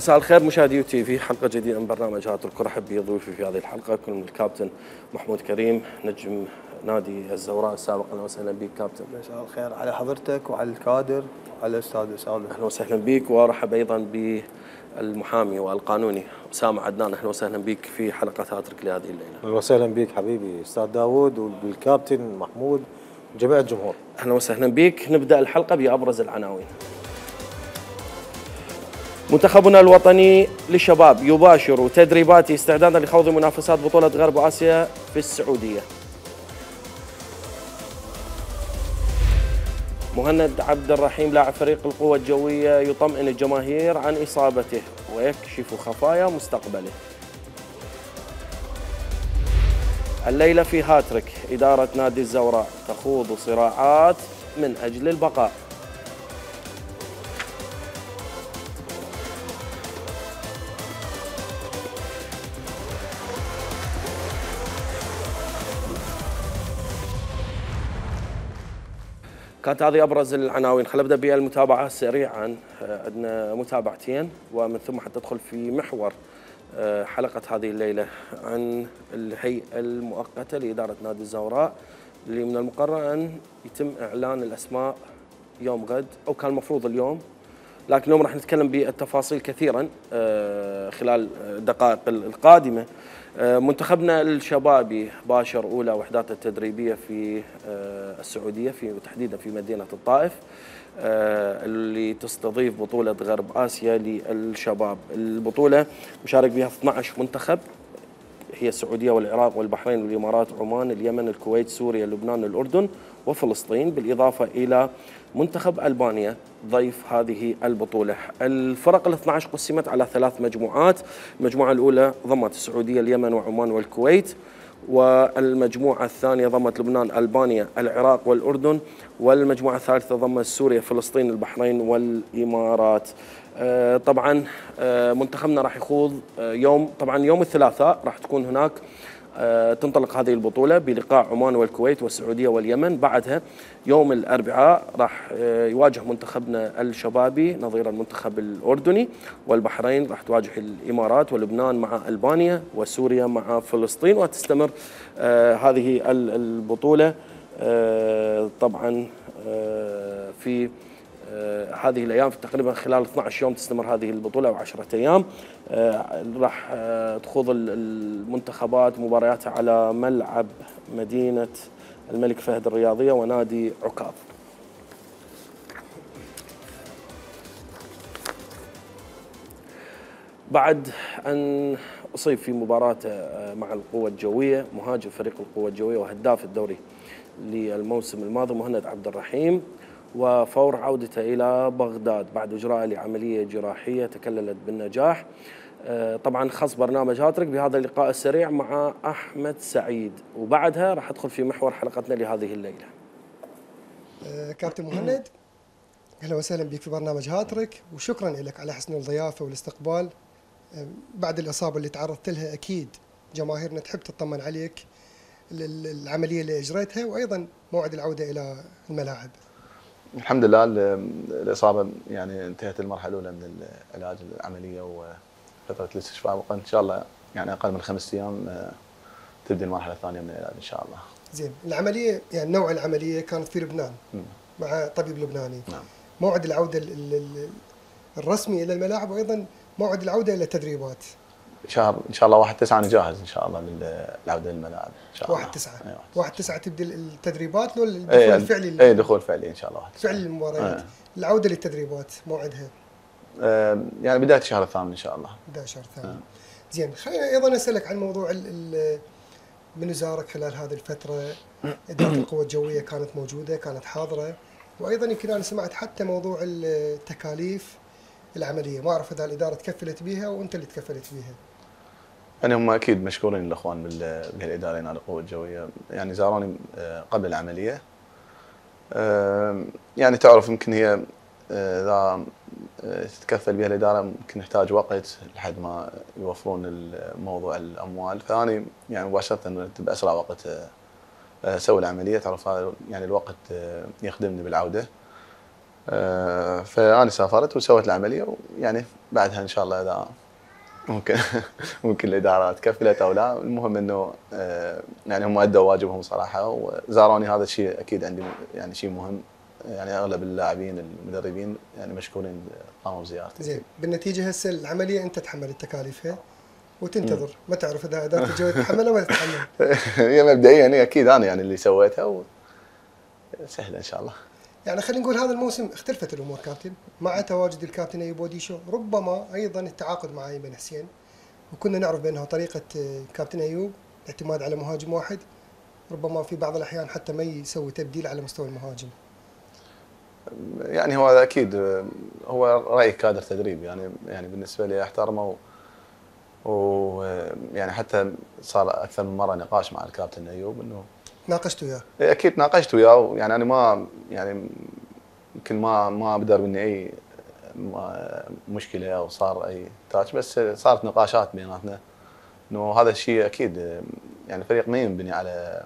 مساء الخير مشاهدي يو تي في، حلقة جديدة من برنامج هاترك. ارحب بضيوفي في هذه الحلقة يكون الكابتن محمود كريم نجم نادي الزوراء السابق. اهلا وسهلا بك كابتن. مساء الخير على حضرتك وعلى الكادر وعلى الاستاذ اسامه. اهلا وسهلا بك، وارحب ايضا بالمحامي والقانوني اسامه عدنان. اهلا وسهلا بك في حلقة هاترك لهذه الليلة. اهلا وسهلا بك حبيبي استاذ داوود والكابتن محمود وجميع الجمهور. اهلا وسهلا بك. نبدأ الحلقة بأبرز العناوين. منتخبنا الوطني للشباب يباشر تدريباته استعدادا لخوض منافسات بطولة غرب آسيا في السعودية. مهند عبد الرحيم لاعب فريق القوة الجوية يطمئن الجماهير عن إصابته ويكشف خفايا مستقبله. الليلة في هاتريك إدارة نادي الزوراء تخوض صراعات من أجل البقاء. كانت هذه أبرز العناوين. خلينا نبدأ بالمتابعة سريعا. عندنا متابعتين ومن ثم حتدخل في محور حلقة هذه الليلة عن الهيئة المؤقتة لإدارة نادي الزوراء، اللي من المقرر أن يتم إعلان الأسماء يوم غد، أو كان المفروض اليوم، لكن اليوم راح نتكلم بالتفاصيل كثيرا خلال الدقائق القادمة. منتخبنا الشبابي باشر أولى وحداته التدريبية في السعودية، تحديدا في مدينة الطائف، اللي تستضيف بطولة غرب آسيا للشباب. البطولة مشارك بها 12 منتخب، هي السعودية والعراق والبحرين والإمارات وعمان اليمن الكويت سوريا لبنان الأردن وفلسطين، بالإضافة إلى منتخب ألبانيا ضيف هذه البطولة. الفرق ال 12 قسمت على 3 مجموعات. المجموعة الأولى ضمت السعودية اليمن وعمان والكويت، والمجموعة الثانية ضمت لبنان ألبانيا العراق والأردن، والمجموعة الثالثة ضمت سوريا فلسطين البحرين والإمارات. طبعا منتخبنا راح يخوض يوم الثلاثاء راح تكون هناك تنطلق هذه البطولة بلقاء عمان والكويت والسعودية واليمن. بعدها يوم الأربعاء راح يواجه منتخبنا الشبابي نظير المنتخب الأردني، والبحرين راح تواجه الإمارات، ولبنان مع ألبانيا، وسوريا مع فلسطين. وتستمر هذه البطولة طبعا في هذه الأيام، في تقريبا خلال 12 يوم تستمر هذه البطولة أو 10 أيام. راح تخوض المنتخبات مبارياتها على ملعب مدينة الملك فهد الرياضية ونادي عكاظ. بعد أن أصيب في مباراة مع القوة الجوية مهاجم فريق القوة الجوية وهداف الدوري للموسم الماضي مهند عبد الرحيم، وفور عودته إلى بغداد بعد إجراء لعملية جراحية تكللت بالنجاح. طبعا خص برنامج هاترك بهذا اللقاء السريع مع أحمد سعيد، وبعدها راح أدخل في محور حلقتنا لهذه الليلة. كابتن مهند، أهلا وسهلا بك في برنامج هاترك، وشكرا لك على حسن الضيافة والاستقبال. بعد الإصابة اللي تعرضت لها أكيد جماهيرنا تحب تطمن عليك، العملية اللي أجريتها وأيضا موعد العودة إلى الملاعب. الحمد لله الإصابة يعني انتهت المرحلة الأولى من العلاج العملية وفترة الاستشفاء، وإن شاء الله يعني أقل من 5 أيام تبدأ المرحلة الثانية من العلاج إن شاء الله. زين، العملية يعني نوع العملية كانت في لبنان مع طبيب لبناني. نعم. موعد العودة الرسمي إلى الملاعب وأيضا موعد العودة إلى التدريبات شهر إن شاء الله 1/9 أنا جاهز إن شاء الله للعودة للملاعب إن شاء الله. 1/9 1/9 تبدأ التدريبات لو الدخول الفعلي؟ أي دخول فعلي إن شاء الله 1/9 فعل المباريات. العودة للتدريبات موعدها يعني بداية الشهر الثامن إن شاء الله. بداية الشهر الثامن. زين، خلينا أيضا أسألك عن موضوع من زارك خلال هذه الفترة. إدارة القوة الجوية كانت موجودة، كانت حاضرة، وأيضا يمكن أنا سمعت حتى موضوع التكاليف العملية، ما أعرف إذا الإدارة تكفلت بها وأنت اللي تكفلت بها. يعني هم اكيد مشكورين الاخوان بالاداره على القوه الجويه، يعني زاروني قبل العمليه. يعني تعرف يمكن هي اذا تتكفل بها الاداره ممكن نحتاج وقت لحد ما يوفرون موضوع الاموال، فاني يعني مباشره باسرع وقت اسوي العمليه. تعرف هذا يعني الوقت يخدمني بالعوده. فانا سافرت وسويت العمليه، ويعني بعدها ان شاء الله اذا ممكن ممكن الاداره تكفلت او لا، المهم انه يعني هم ادوا واجبهم صراحه وزاروني، هذا الشيء اكيد عندي يعني شيء مهم. يعني اغلب اللاعبين المدربين يعني مشكورين قاموا بزيارتي. زين، بالنتيجه هسه العمليه انت تتحمل تكاليفها وتنتظر، ما تعرف اذا اداره الجويه تتحملها ولا تتحمل. هي مبدئيا هي اكيد انا يعني اللي سويتها وسهله ان شاء الله. يعني خلينا نقول هذا الموسم اختلفت الامور كابتن مع تواجد الكابتن ايوب اوديشو، ربما ايضا التعاقد مع ايمن حسين، وكنا نعرف بانه طريقه كابتن ايوب الاعتماد على مهاجم واحد، ربما في بعض الاحيان حتى ما يسوي تبديل على مستوى المهاجم. يعني هو اكيد هو راي كادر تدريب، يعني بالنسبه لي احترمه، ويعني حتى صار اكثر من مره نقاش مع الكابتن ايوب انه ناقشت وياه؟ اكيد ناقشت وياه، يعني انا ما يعني يمكن ما بدر مني اي مشكله او صار اي تاتش، بس صارت نقاشات بيناتنا انه هذا الشيء اكيد يعني الفريق ما ينبني على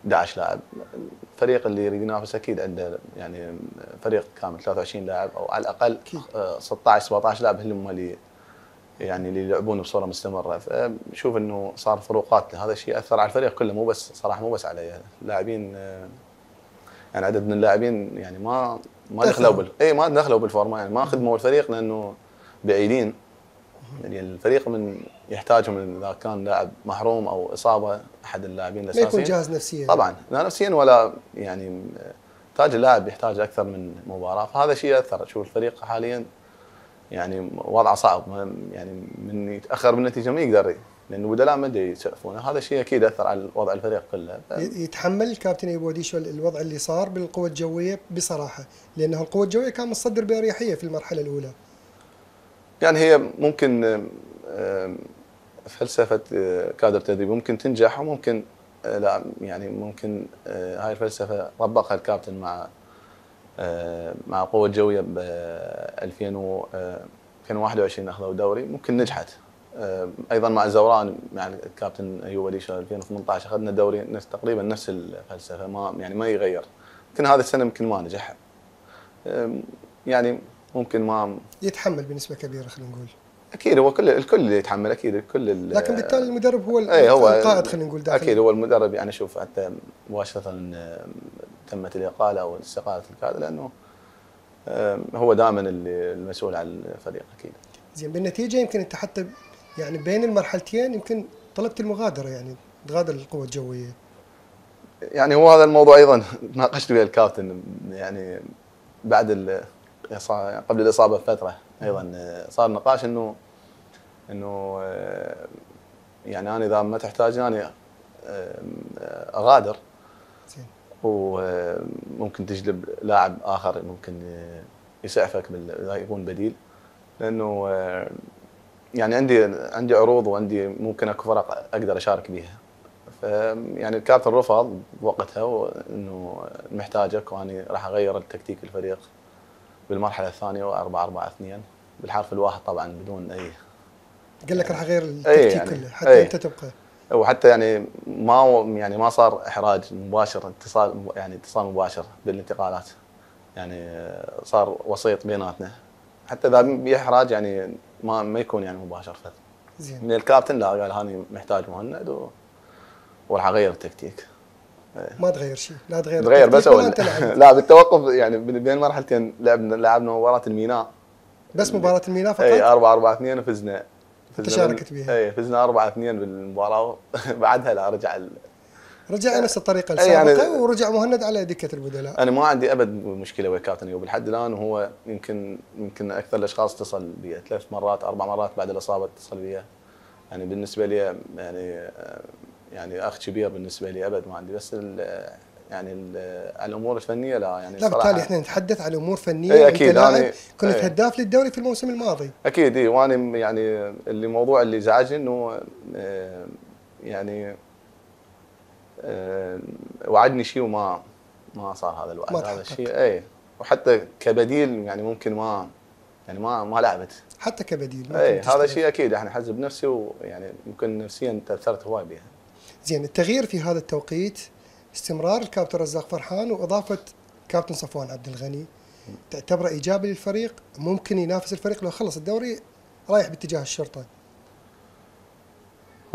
11 لاعب، الفريق اللي يريد ينافس اكيد عنده يعني فريق كامل 23 لاعب او على الاقل 16 17 لاعب هم اللي يعني اللي يلعبون بصوره مستمره. فشوف انه صار فروقات، هذا الشيء اثر على الفريق كله، مو بس صراحه مو بس علي اللاعبين، يعني عدد من اللاعبين يعني ما دخلوا ما دخلوا بالفورمه، يعني ما خدموا الفريق لانه بعيدين، يعني الفريق من يحتاجهم اذا كان لاعب محروم او اصابه احد اللاعبين الاساسيين ما يكون جاهز نفسيا طبعا، لا نفسيا ولا يعني يحتاج اللاعب يحتاج اكثر من مباراه، فهذا شيء اثر. شوف الفريق حاليا يعني وضعه صعب، يعني من يتاخر بالنتيجه ما يقدر، لانه بدلاء ما ادري يسقفونه، هذا الشيء اكيد اثر على وضع الفريق كله. يتحمل الكابتن ايوب اوديشو الوضع اللي صار بالقوه الجويه بصراحه، لانه القوه الجويه كان متصدر باريحيه في المرحله الاولى. يعني هي ممكن فلسفه كادر تدريب ممكن تنجح وممكن لا، يعني ممكن هاي الفلسفه طبقها الكابتن مع القوه الجويه ب 2021 اخذوا دوري، ممكن نجحت. ايضا مع الزوران مع الكابتن ايوب اوديشو 2018 اخذنا دوري تقريبا نفس الفلسفه، ما يغير. يمكن هذه السنه يمكن ما نجح، يعني ممكن ما يتحمل بنسبه كبيره خلينا نقول. اكيد هو الكل يتحمل، اكيد الكل، لكن بالتالي المدرب هو القائد خلينا نقول داخل. اكيد هو المدرب، يعني شوف حتى مباشره تمت الاقاله او استقاله الكادر، لانه هو دائما المسؤول عن الفريق اكيد. زين، بالنتيجه يمكن انت حتى يعني بين المرحلتين يمكن طلبت المغادره، يعني تغادر القوه الجويه. يعني هو هذا الموضوع ايضا ناقشت ويا الكابتن، يعني بعد قبل الاصابه بفتره ايضا صار نقاش انه يعني انا اذا ما تحتاجني انا اغادر، وممكن تجلب لاعب اخر ممكن يسعفك اذا يكون بديل، لانه يعني عندي عروض وعندي ممكن اكو فرق اقدر اشارك بيها. يعني الكابتن رفض بوقتها انه محتاجك، واني راح اغير التكتيك الفريق بالمرحله الثانيه و4-4-2 بالحرف الواحد طبعا بدون اي. قال لك راح اغير التكتيك يعني كله حتى انت تبقى. وحتى يعني ما صار احراج مباشر، اتصال مباشر بالانتقالات، يعني صار وسيط بيناتنا، حتى اذا بيحراج يعني ما يكون يعني مباشر. زين. من الكابتن لا، قال هاني محتاج مهند وراح اغير التكتيك. ما تغير شيء، لا تغير بس لا بالتوقف، يعني بين مرحلتين لعبنا مباراه الميناء، بس مباراه الميناء فقط. اي 4-4-2 وفزنا. شاركت بها. اي فزنا 4-2 بالمباراه بعدها لا رجع نفس الطريقه السابقه، يعني ورجع مهند على دكه البدلاء. انا ما عندي ابد مشكله ويا كابتن ايوب لحد الان، وهو يمكن اكثر الاشخاص اتصل بي 3 مرات 4 مرات بعد الاصابه اتصل بي، يعني بالنسبه لي يعني اخ كبير بالنسبه لي، ابد ما عندي، بس يعني الامور الفنيه لا، يعني لا بالتالي احنا نتحدث عن امور فنيه. اي اكيد انا كنت هداف للدوري في الموسم الماضي. اكيد اي، وانا يعني الموضوع اللي زعجني انه يعني وعدني شيء وما صار هذا الوعد، هذا الشيء. اي وحتى كبديل يعني ممكن ما لعبت حتى كبديل. اي هذا شيء اكيد يعني حز بنفسي، ويعني ممكن نفسيا تاثرت هواي بها. زين، التغيير في هذا التوقيت استمرار الكابتن رزاق فرحان واضافه كابتن صفوان عبد الغني، تعتبره ايجابي للفريق؟ ممكن ينافس الفريق لو خلص الدوري رايح باتجاه الشرطه؟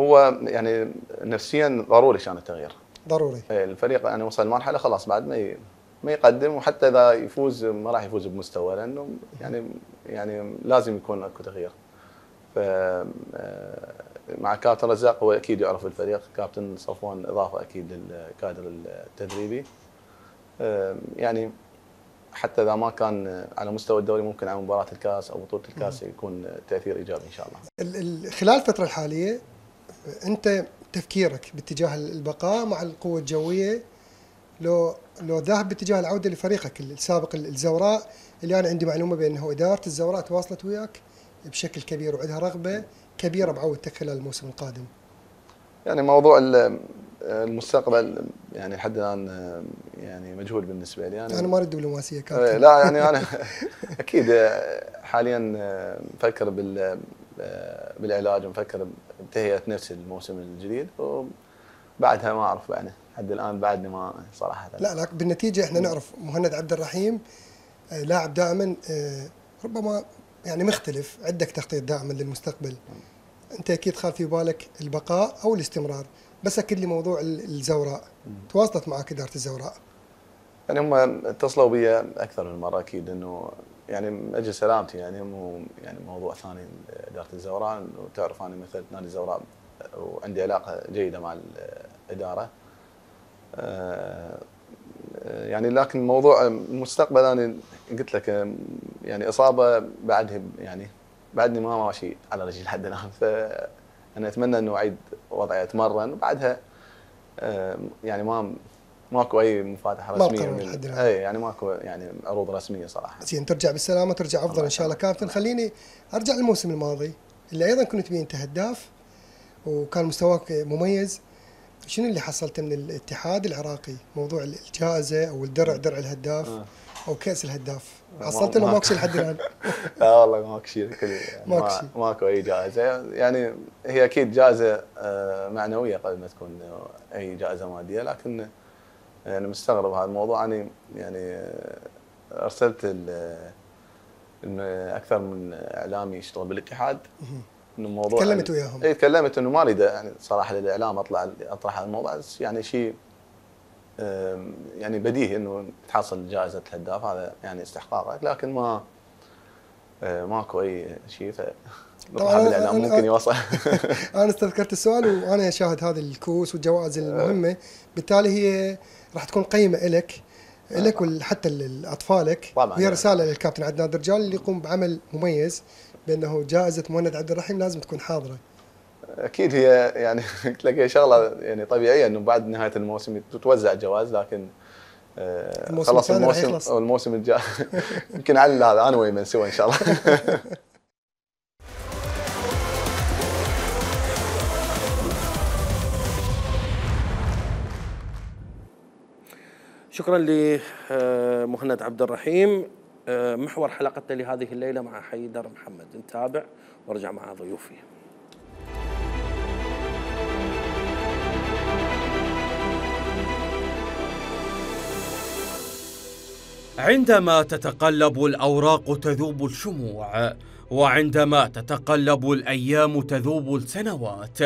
هو يعني نفسيا ضروري كان التغيير. ضروري. الفريق يعني وصل مرحله خلاص بعد ما يقدم، وحتى اذا يفوز ما راح يفوز بمستوى، لانه يعني لازم يكون اكو تغيير. ف مع كابتن رزاق هو اكيد يعرف الفريق، كابتن صفوان اضافه اكيد للكادر التدريبي. يعني حتى اذا ما كان على مستوى الدوري ممكن على مباراه الكاس او بطوله الكاس يكون تاثير ايجابي ان شاء الله. خلال الفتره الحاليه انت تفكيرك باتجاه البقاء مع القوه الجويه، لو ذاهب باتجاه العوده لفريقك السابق الزوراء، اللي انا عندي معلومه بانه اداره الزوراء تواصلت وياك بشكل كبير وعندها رغبه كبيره بعودتك خلال الموسم القادم. يعني موضوع المستقبل يعني لحد الان يعني مجهول بالنسبه لي. انا ما اريد دبلوماسيه كابتن. لا يعني انا اكيد حاليا مفكر بالعلاج، ومفكر بتهيئه نفسي للموسم الجديد، وبعدها ما اعرف يعني لحد الان بعدني ما صراحه. لا بالنتيجه احنا نعرف مهند عبد الرحيم لاعب دائما ربما يعني مختلف، عندك تخطيط دائما للمستقبل. انت اكيد خاف في بالك البقاء او الاستمرار، بس اكد لي موضوع الزوراء، تواصلت معك اداره الزوراء؟ يعني هم اتصلوا بي اكثر من مره اكيد، انه يعني من اجل سلامتي، يعني مو يعني موضوع ثاني اداره الزوراء، وتعرف انا مثلت نادي الزوراء وعندي علاقه جيده مع الاداره. يعني لكن موضوع المستقبل انا قلت لك يعني اصابه بعدها، يعني بعدني ما ماشي على رجلي لحد الان، فانا اتمنى انه اعيد وضعي اتمرن، وبعدها يعني ماكو اي مفاتحه رسميه اي يعني ماكو يعني عروض رسميه صراحه. زين، ترجع بالسلامه، ترجع افضل ان شاء الله كابتن. خليني ارجع للموسم الماضي اللي ايضا كنت بيه انت هداف وكان مستواك مميز. شنو اللي حصلته من الاتحاد العراقي؟ موضوع الجائزه او الدرع، درع الهداف او كاس الهداف، حصلت له ماكو شيء لحد الان؟ لا والله ماكو شيء، ماكو اي جائزه. يعني هي اكيد جائزه معنويه قبل ما تكون اي جائزه ماديه، لكن يعني مستغرب هذا الموضوع. انا يعني ارسلت اكثر من اعلامي يشتغل بالاتحاد انه الموضوع، تكلمت وياهم؟ اي تكلمت انه ما اريد يعني صراحه للاعلام اطرح هذا الموضوع، بس يعني شيء يعني بديهي انه تحصل جائزه الهداف، هذا يعني استحقاقك، لكن ماكو اي شيء. طبعا بالاعلام ممكن يوصل. انا استذكرت السؤال وانا اشاهد هذه الكؤوس والجوائز المهمه، بالتالي هي راح تكون قيمه لك وحتى لاطفالك، وهي رساله للكابتن عدنان درجال اللي يقوم بعمل مميز، بانه جائزه مهند عبد الرحيم لازم تكون حاضره. اكيد هي يعني قلت لك هي شغله يعني طبيعيه انه بعد نهايه الموسم تتوزع جوائز، لكن خلص الموسم الجاي يمكن على هذا انا ويمن سوا ان شاء الله. شكرا لمهند عبد الرحيم. محور حلقتنا لهذه الليله مع حيدر محمد، نتابع وارجع مع ضيوفي. عندما تتقلب الأوراق تذوب الشموع، وعندما تتقلب الأيام تذوب السنوات،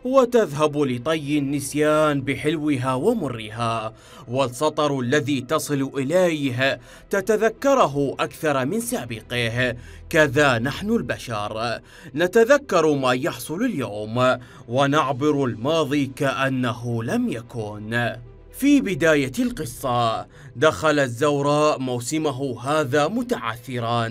وتذهب لطي النسيان بحلوها ومرها، والسطر الذي تصل إليه تتذكره أكثر من سابقه. كذا نحن البشر نتذكر ما يحصل اليوم ونعبر الماضي كأنه لم يكن. في بداية القصة دخل الزوراء موسمه هذا متعثرا،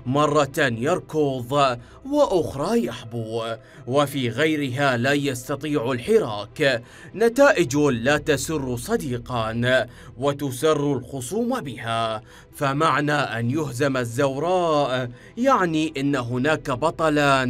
مرة يركض وأخرى يحبو، وفي غيرها لا يستطيع الحراك، نتائج لا تسر صديقا وتسر الخصوم بها. فمعنى أن يهزم الزوراء يعني أن هناك بطلا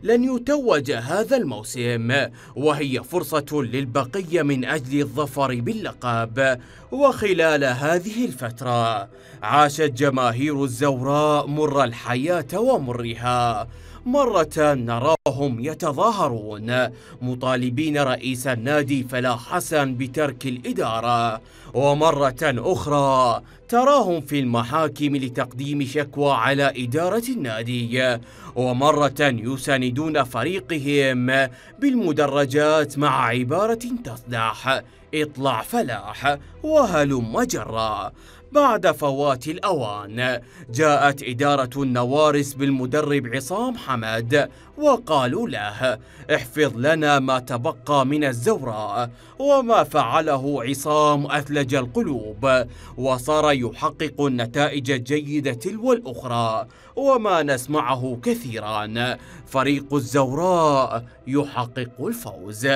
لن يتوج هذا الموسم، وهي فرصة للبقية من أجل الظفر باللقب. وخلال هذه الفترة عاشت جماهير الزوراء مر الحياة ومرها، مرة نراهم يتظاهرون مطالبين رئيس النادي فلاح حسن بترك الإدارة، ومرة أخرى تراهم في المحاكم لتقديم شكوى على إدارة النادي، ومرة يساندون فريقهم بالمدرجات مع عبارة تصدح: اطلع فلاح وهلم جرا. بعد فوات الأوان جاءت إدارة النوارس بالمدرب عصام حمد وقالوا له: احفظ لنا ما تبقى من الزوراء. وما فعله عصام أثلج القلوب، وصار يحقق النتائج الجيدة تلو الأخرى، وما نسمعه كثيرا: فريق الزوراء يحقق الفوز.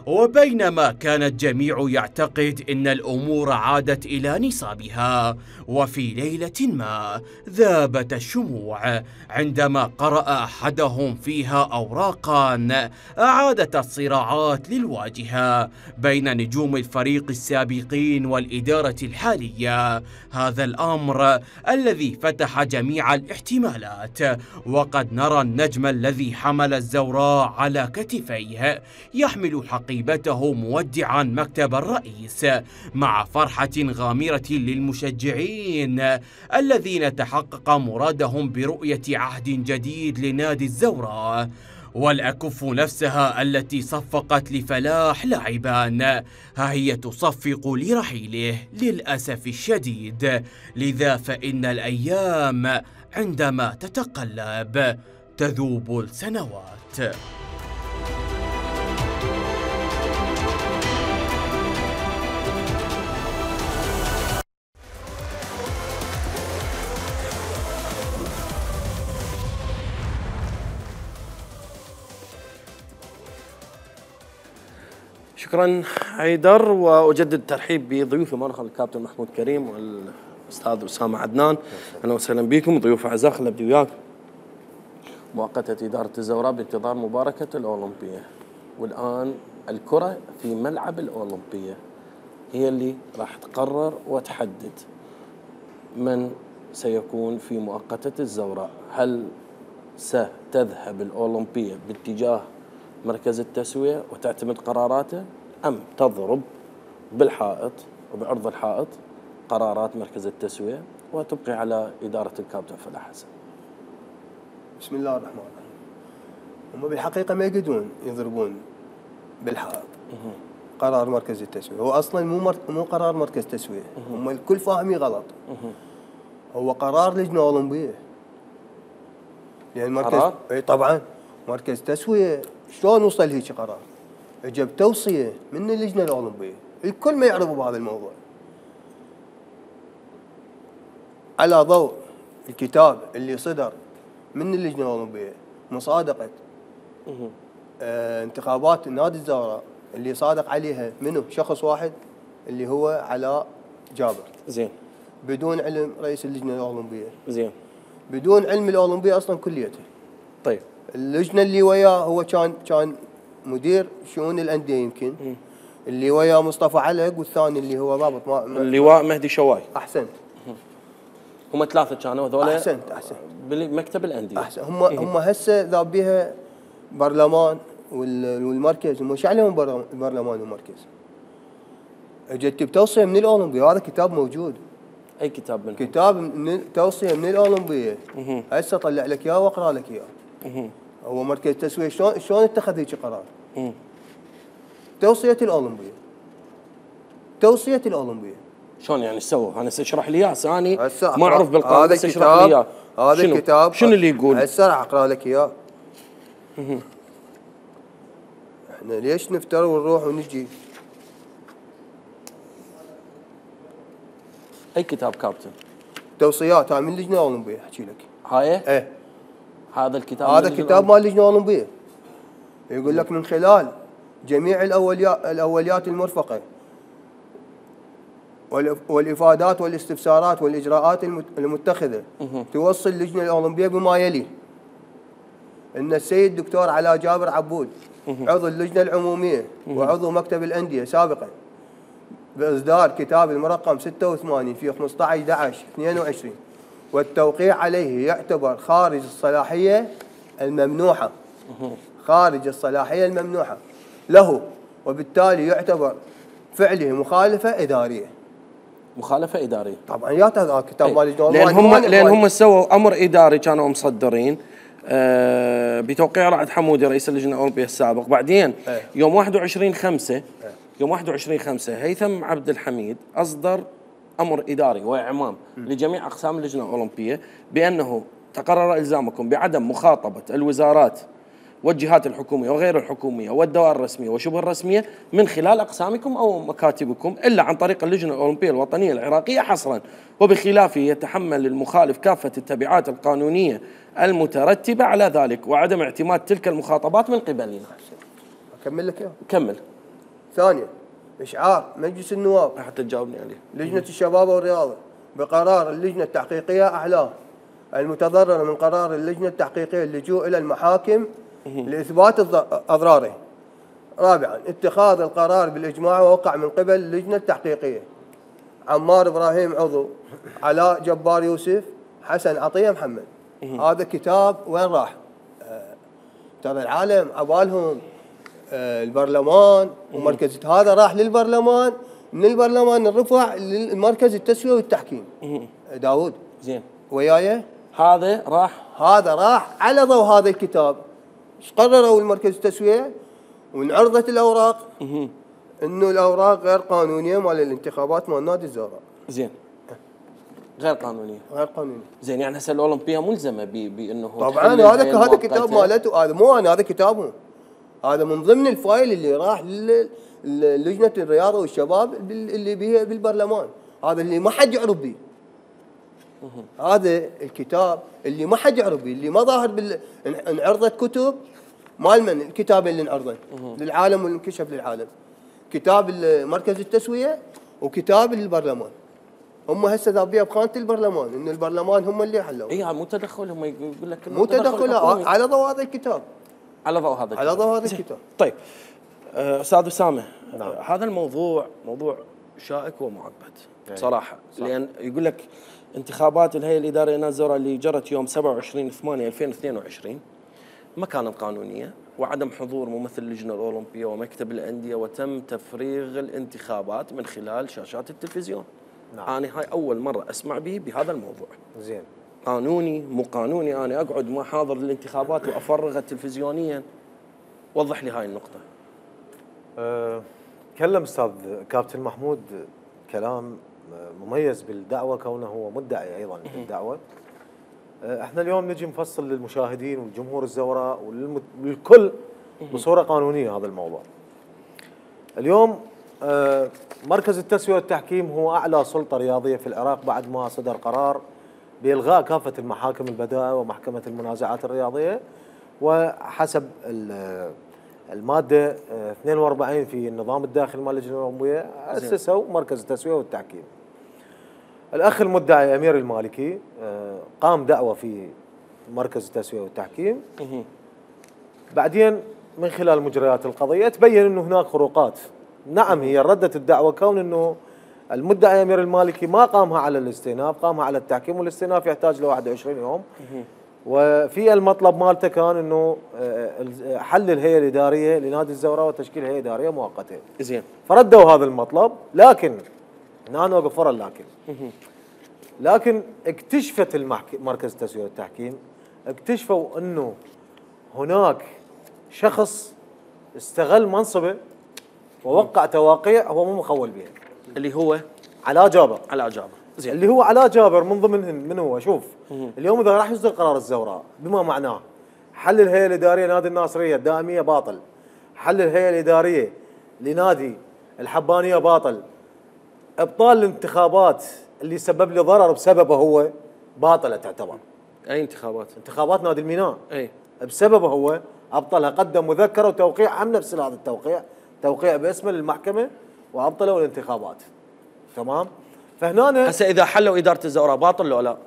وبينما كان الجميع يعتقد أن الأمور عادت إلى نصابها، وفي ليلة ما ذابت الشموع عندما قرأ أحدهم فيها أوراقا أعادت الصراعات للواجهة بين نجوم الفريق السابقين والإدارة الحالية. هذا الأمر الذي فتح جميع الاحتمالات، وقد نرى النجم الذي حمل الزوراء على كتفيه يحمل حقيبته مودعا مكتب الرئيس، مع فرحة غامرة للمشجعين الذين تحقق مرادهم برؤية عهد جديد لنادي الزوراء. والأكف نفسها التي صفقت لفلاح لاعبان، ها هي تصفق لرحيله للأسف الشديد. لذا فإن الأيام عندما تتقلب تذوب السنوات. شكرا حيدر، واجدد الترحيب بضيوفي مرة الكابتن محمود كريم والاستاذ اسامه عدنان. اهلا وسهلا بكم ضيوف اعزاء. خل ابدي وياك. مؤقتة إدارة الزوراء بانتظار مباركة الأولمبية، والآن الكرة في ملعب الأولمبية هي اللي راح تقرر وتحدد من سيكون في مؤقتة الزوراء. هل ستذهب الأولمبية باتجاه مركز التسوية وتعتمد قراراته، أم تضرب بالحائط وبعرض الحائط قرارات مركز التسوية وتبقي على إدارة الكابتن فلاح حسن؟ بسم الله الرحمن الرحيم. هم بالحقيقة ما يقدرون يضربون بالحائط قرار مركز التسوية. هو أصلا مو قرار مركز تسوية، هم الكل فاهمين غلط. هو قرار لجنة أولمبية. يعني مركز اي طبعا مركز تسوية شلون وصل هيك قرار؟ اجى بتوصية من اللجنة الأولمبية، الكل ما يعرفوا بهذا الموضوع. على ضوء الكتاب اللي صدر من اللجنة الأولمبية مصادقة انتخابات نادي الزوراء اللي صادق عليها منه شخص واحد اللي هو علاء جابر. زين. بدون علم رئيس اللجنة الأولمبية. زين. بدون علم الأولمبية أصلا كليته. طيب. اللجنة اللي وياه هو كان مدير شؤون الأندية يمكن. اللي وياه مصطفى علق، والثاني اللي هو ضابط اللواء مهدي شواي. أحسنت. هم ثلاثة كانوا هذول. أحسنت. بمكتب الأندية. أحسن. هم هسه ذاب بها برلمان والمركز. هم شو عليهم برلمان والمركز؟ اجت بتوصية من الأولمبية، هذا كتاب موجود. أي كتاب منهم؟ كتاب من توصية من الأولمبية. هسه طلع لك إياه وأقرأ لك إياه. هو مركز التسوية شلون اتخذ هيك قرار؟ توصية الأولمبية. توصية الأولمبية. شلون يعني سووا؟ أنا اشرح لي إياه، أنا هسه ما أعرف بالقانون، بس اشرح لي إياه. هذا الكتاب شنو اللي يقول؟ هسه راح أقرأ لك إياه. احنا ليش نفتر ونروح ونجي؟ أي كتاب كابتن؟ توصيات هاي من اللجنة الأولمبية أحكي لك. هاي؟ إيه. هذا الكتاب هذا كتاب مال اللجنة الأولمبية. يقول لك من خلال جميع الأوليات المرفقة والإفادات والاستفسارات والإجراءات المتخذة، توصل اللجنة الأولمبية بما يلي: أن السيد الدكتور علاء جابر عبود عضو اللجنة العمومية وعضو مكتب الأندية سابقا، بإصدار كتاب المرقم 86 في 15/11/22، والتوقيع عليه يعتبر خارج الصلاحية الممنوحة خارج الصلاحية الممنوحة له، وبالتالي يعتبر فعله مخالفة إدارية. مخالفة إدارية. طبعا يا هذا كتاب مال لجنة لأن هم سووا أمر إداري كانوا مصدرين بتوقيع رائد حمودي رئيس اللجنة الأولمبية السابق. بعدين يوم 21/5 يوم 21/5 هيثم عبد الحميد أصدر أمر إداري وإعمام لجميع أقسام اللجنة الأولمبية بأنه تقرر إلزامكم بعدم مخاطبة الوزارات والجهات الحكومية وغير الحكومية والدوائر الرسمية وشبه الرسمية من خلال أقسامكم أو مكاتبكم إلا عن طريق اللجنة الأولمبية الوطنية العراقية حصرا، وبخلافه يتحمل المخالف كافة التبعات القانونية المترتبة على ذلك وعدم اعتماد تلك المخاطبات من قبلنا. أكمل لك إياه. كمل. ثانيا، إشعار مجلس النواب حتى تجاوبني عليه. لجنة الشباب والرياضة بقرار اللجنة التحقيقية أعلاه المتضررة من قرار اللجنة التحقيقية اللجوء إلى المحاكم لإثبات أضراره. رابعا، اتخاذ القرار بالإجماع ووقع من قبل اللجنة التحقيقية عمار إبراهيم عضو، علاء جبار يوسف، حسن عطية محمد. هذا كتاب وين راح؟ ترى العالم عبالهم البرلمان ومركز، هذا راح للبرلمان، من البرلمان الرفع للمركز التسوية والتحكيم. داود زين وياي؟ هذا راح على ضوء هذا الكتاب. ايش قرروا المركز التسوية؟ وانعرضت الأوراق انه الأوراق غير قانونية مال الانتخابات مال نادي الزهراء. زين غير قانونية. غير قانونية. زين يعني هسه الأولمبية ملزمة بأنه طبعا هذا كتاب مالته، هذا مو أنا، هذا كتابهم. هذا من ضمن الفايل اللي راح للجنة الرياضة والشباب اللي بيها بالبرلمان، هذا اللي ما حد يعرف به. هذا الكتاب اللي ما حد يعرف به، اللي ما ظاهر انعرضت كتب مال من الكتاب اللي انعرضت للعالم والانكشف للعالم، كتاب مركز التسوية وكتاب البرلمان. هم هسه ذابيه بخانه البرلمان، انه البرلمان هم اللي حلوا. اي مو تدخل، هم يقول لك مو تدخل على ضوء هذا الكتاب. على ضوء هذا على ضوء هذا الكتاب. طيب استاذ اسامه، نعم. هذا الموضوع موضوع شائك ومعقد بصراحه، لان يقول لك انتخابات الهيئه الاداريه لنادي الزهراء اللي جرت يوم 27/8/2022 ما كانت قانونيه، وعدم حضور ممثل اللجنه الاولمبيه ومكتب الانديه، وتم تفريغ الانتخابات من خلال شاشات التلفزيون. نعم. انا هاي اول مره اسمع به بهذا الموضوع. زين. قانوني مو قانوني، انا اقعد ما حاضر الانتخابات وافرغها تلفزيونيا؟ وضح لي هاي النقطه. تكلم استاذ كابتن محمود كلام مميز بالدعوه، كونه هو مدعي ايضا بالدعوه. احنا اليوم نجي نفصل للمشاهدين والجمهور الزوراء والكل بصوره قانونيه هذا الموضوع. اليوم مركز التسويه والتحكيم هو اعلى سلطه رياضيه في العراق بعد ما صدر قرار بإلغاء كافة المحاكم البدائع ومحكمة المنازعات الرياضية، وحسب المادة 42 في النظام الداخلي مال اللجنة الأولمبية أسسوا مركز التسوية والتحكيم. الأخ المدعي أمير المالكي قام دعوة في مركز التسوية والتحكيم، بعدين من خلال مجريات القضية تبين أنه هناك خروقات. نعم، هي ردت الدعوة كون أنه المدعي أمير المالكي ما قامها على الاستئناف، قامها على التحكيم، والاستئناف يحتاج ل 21 يوم. وفي المطلب مالته كان انه حل الهيئه الاداريه لنادي الزهراء وتشكيل هيئه اداريه مؤقته. زين. فردوا هذا المطلب، لكن هنا نوقف ورا لكن اكتشفت مركز التسويه والتحكيم، اكتشفوا انه هناك شخص استغل منصبه ووقع تواقيع هو مو مخول بها، اللي هو علاء جابر. علاء جابر. زين. اللي هو علاء جابر من ضمنهن من هو؟ شوف، اليوم اذا راح يصدر قرار الزهراء بما معناه حل الهيئه الاداريه لنادي الناصريه الدائميه باطل، حل الهيئه الاداريه لنادي الحبانيه باطل، ابطال الانتخابات اللي سبب لي ضرر بسببه هو باطله تعتبر. اي انتخابات؟ انتخابات نادي الميناء. اي بسببه هو ابطلها، قدم مذكره وتوقيع هم نفس هذا التوقيع، توقيع باسمه للمحكمه وابطلوا الانتخابات. تمام؟ فهنا هسه اذا حلوا اداره الزهراء باطل لو لا؟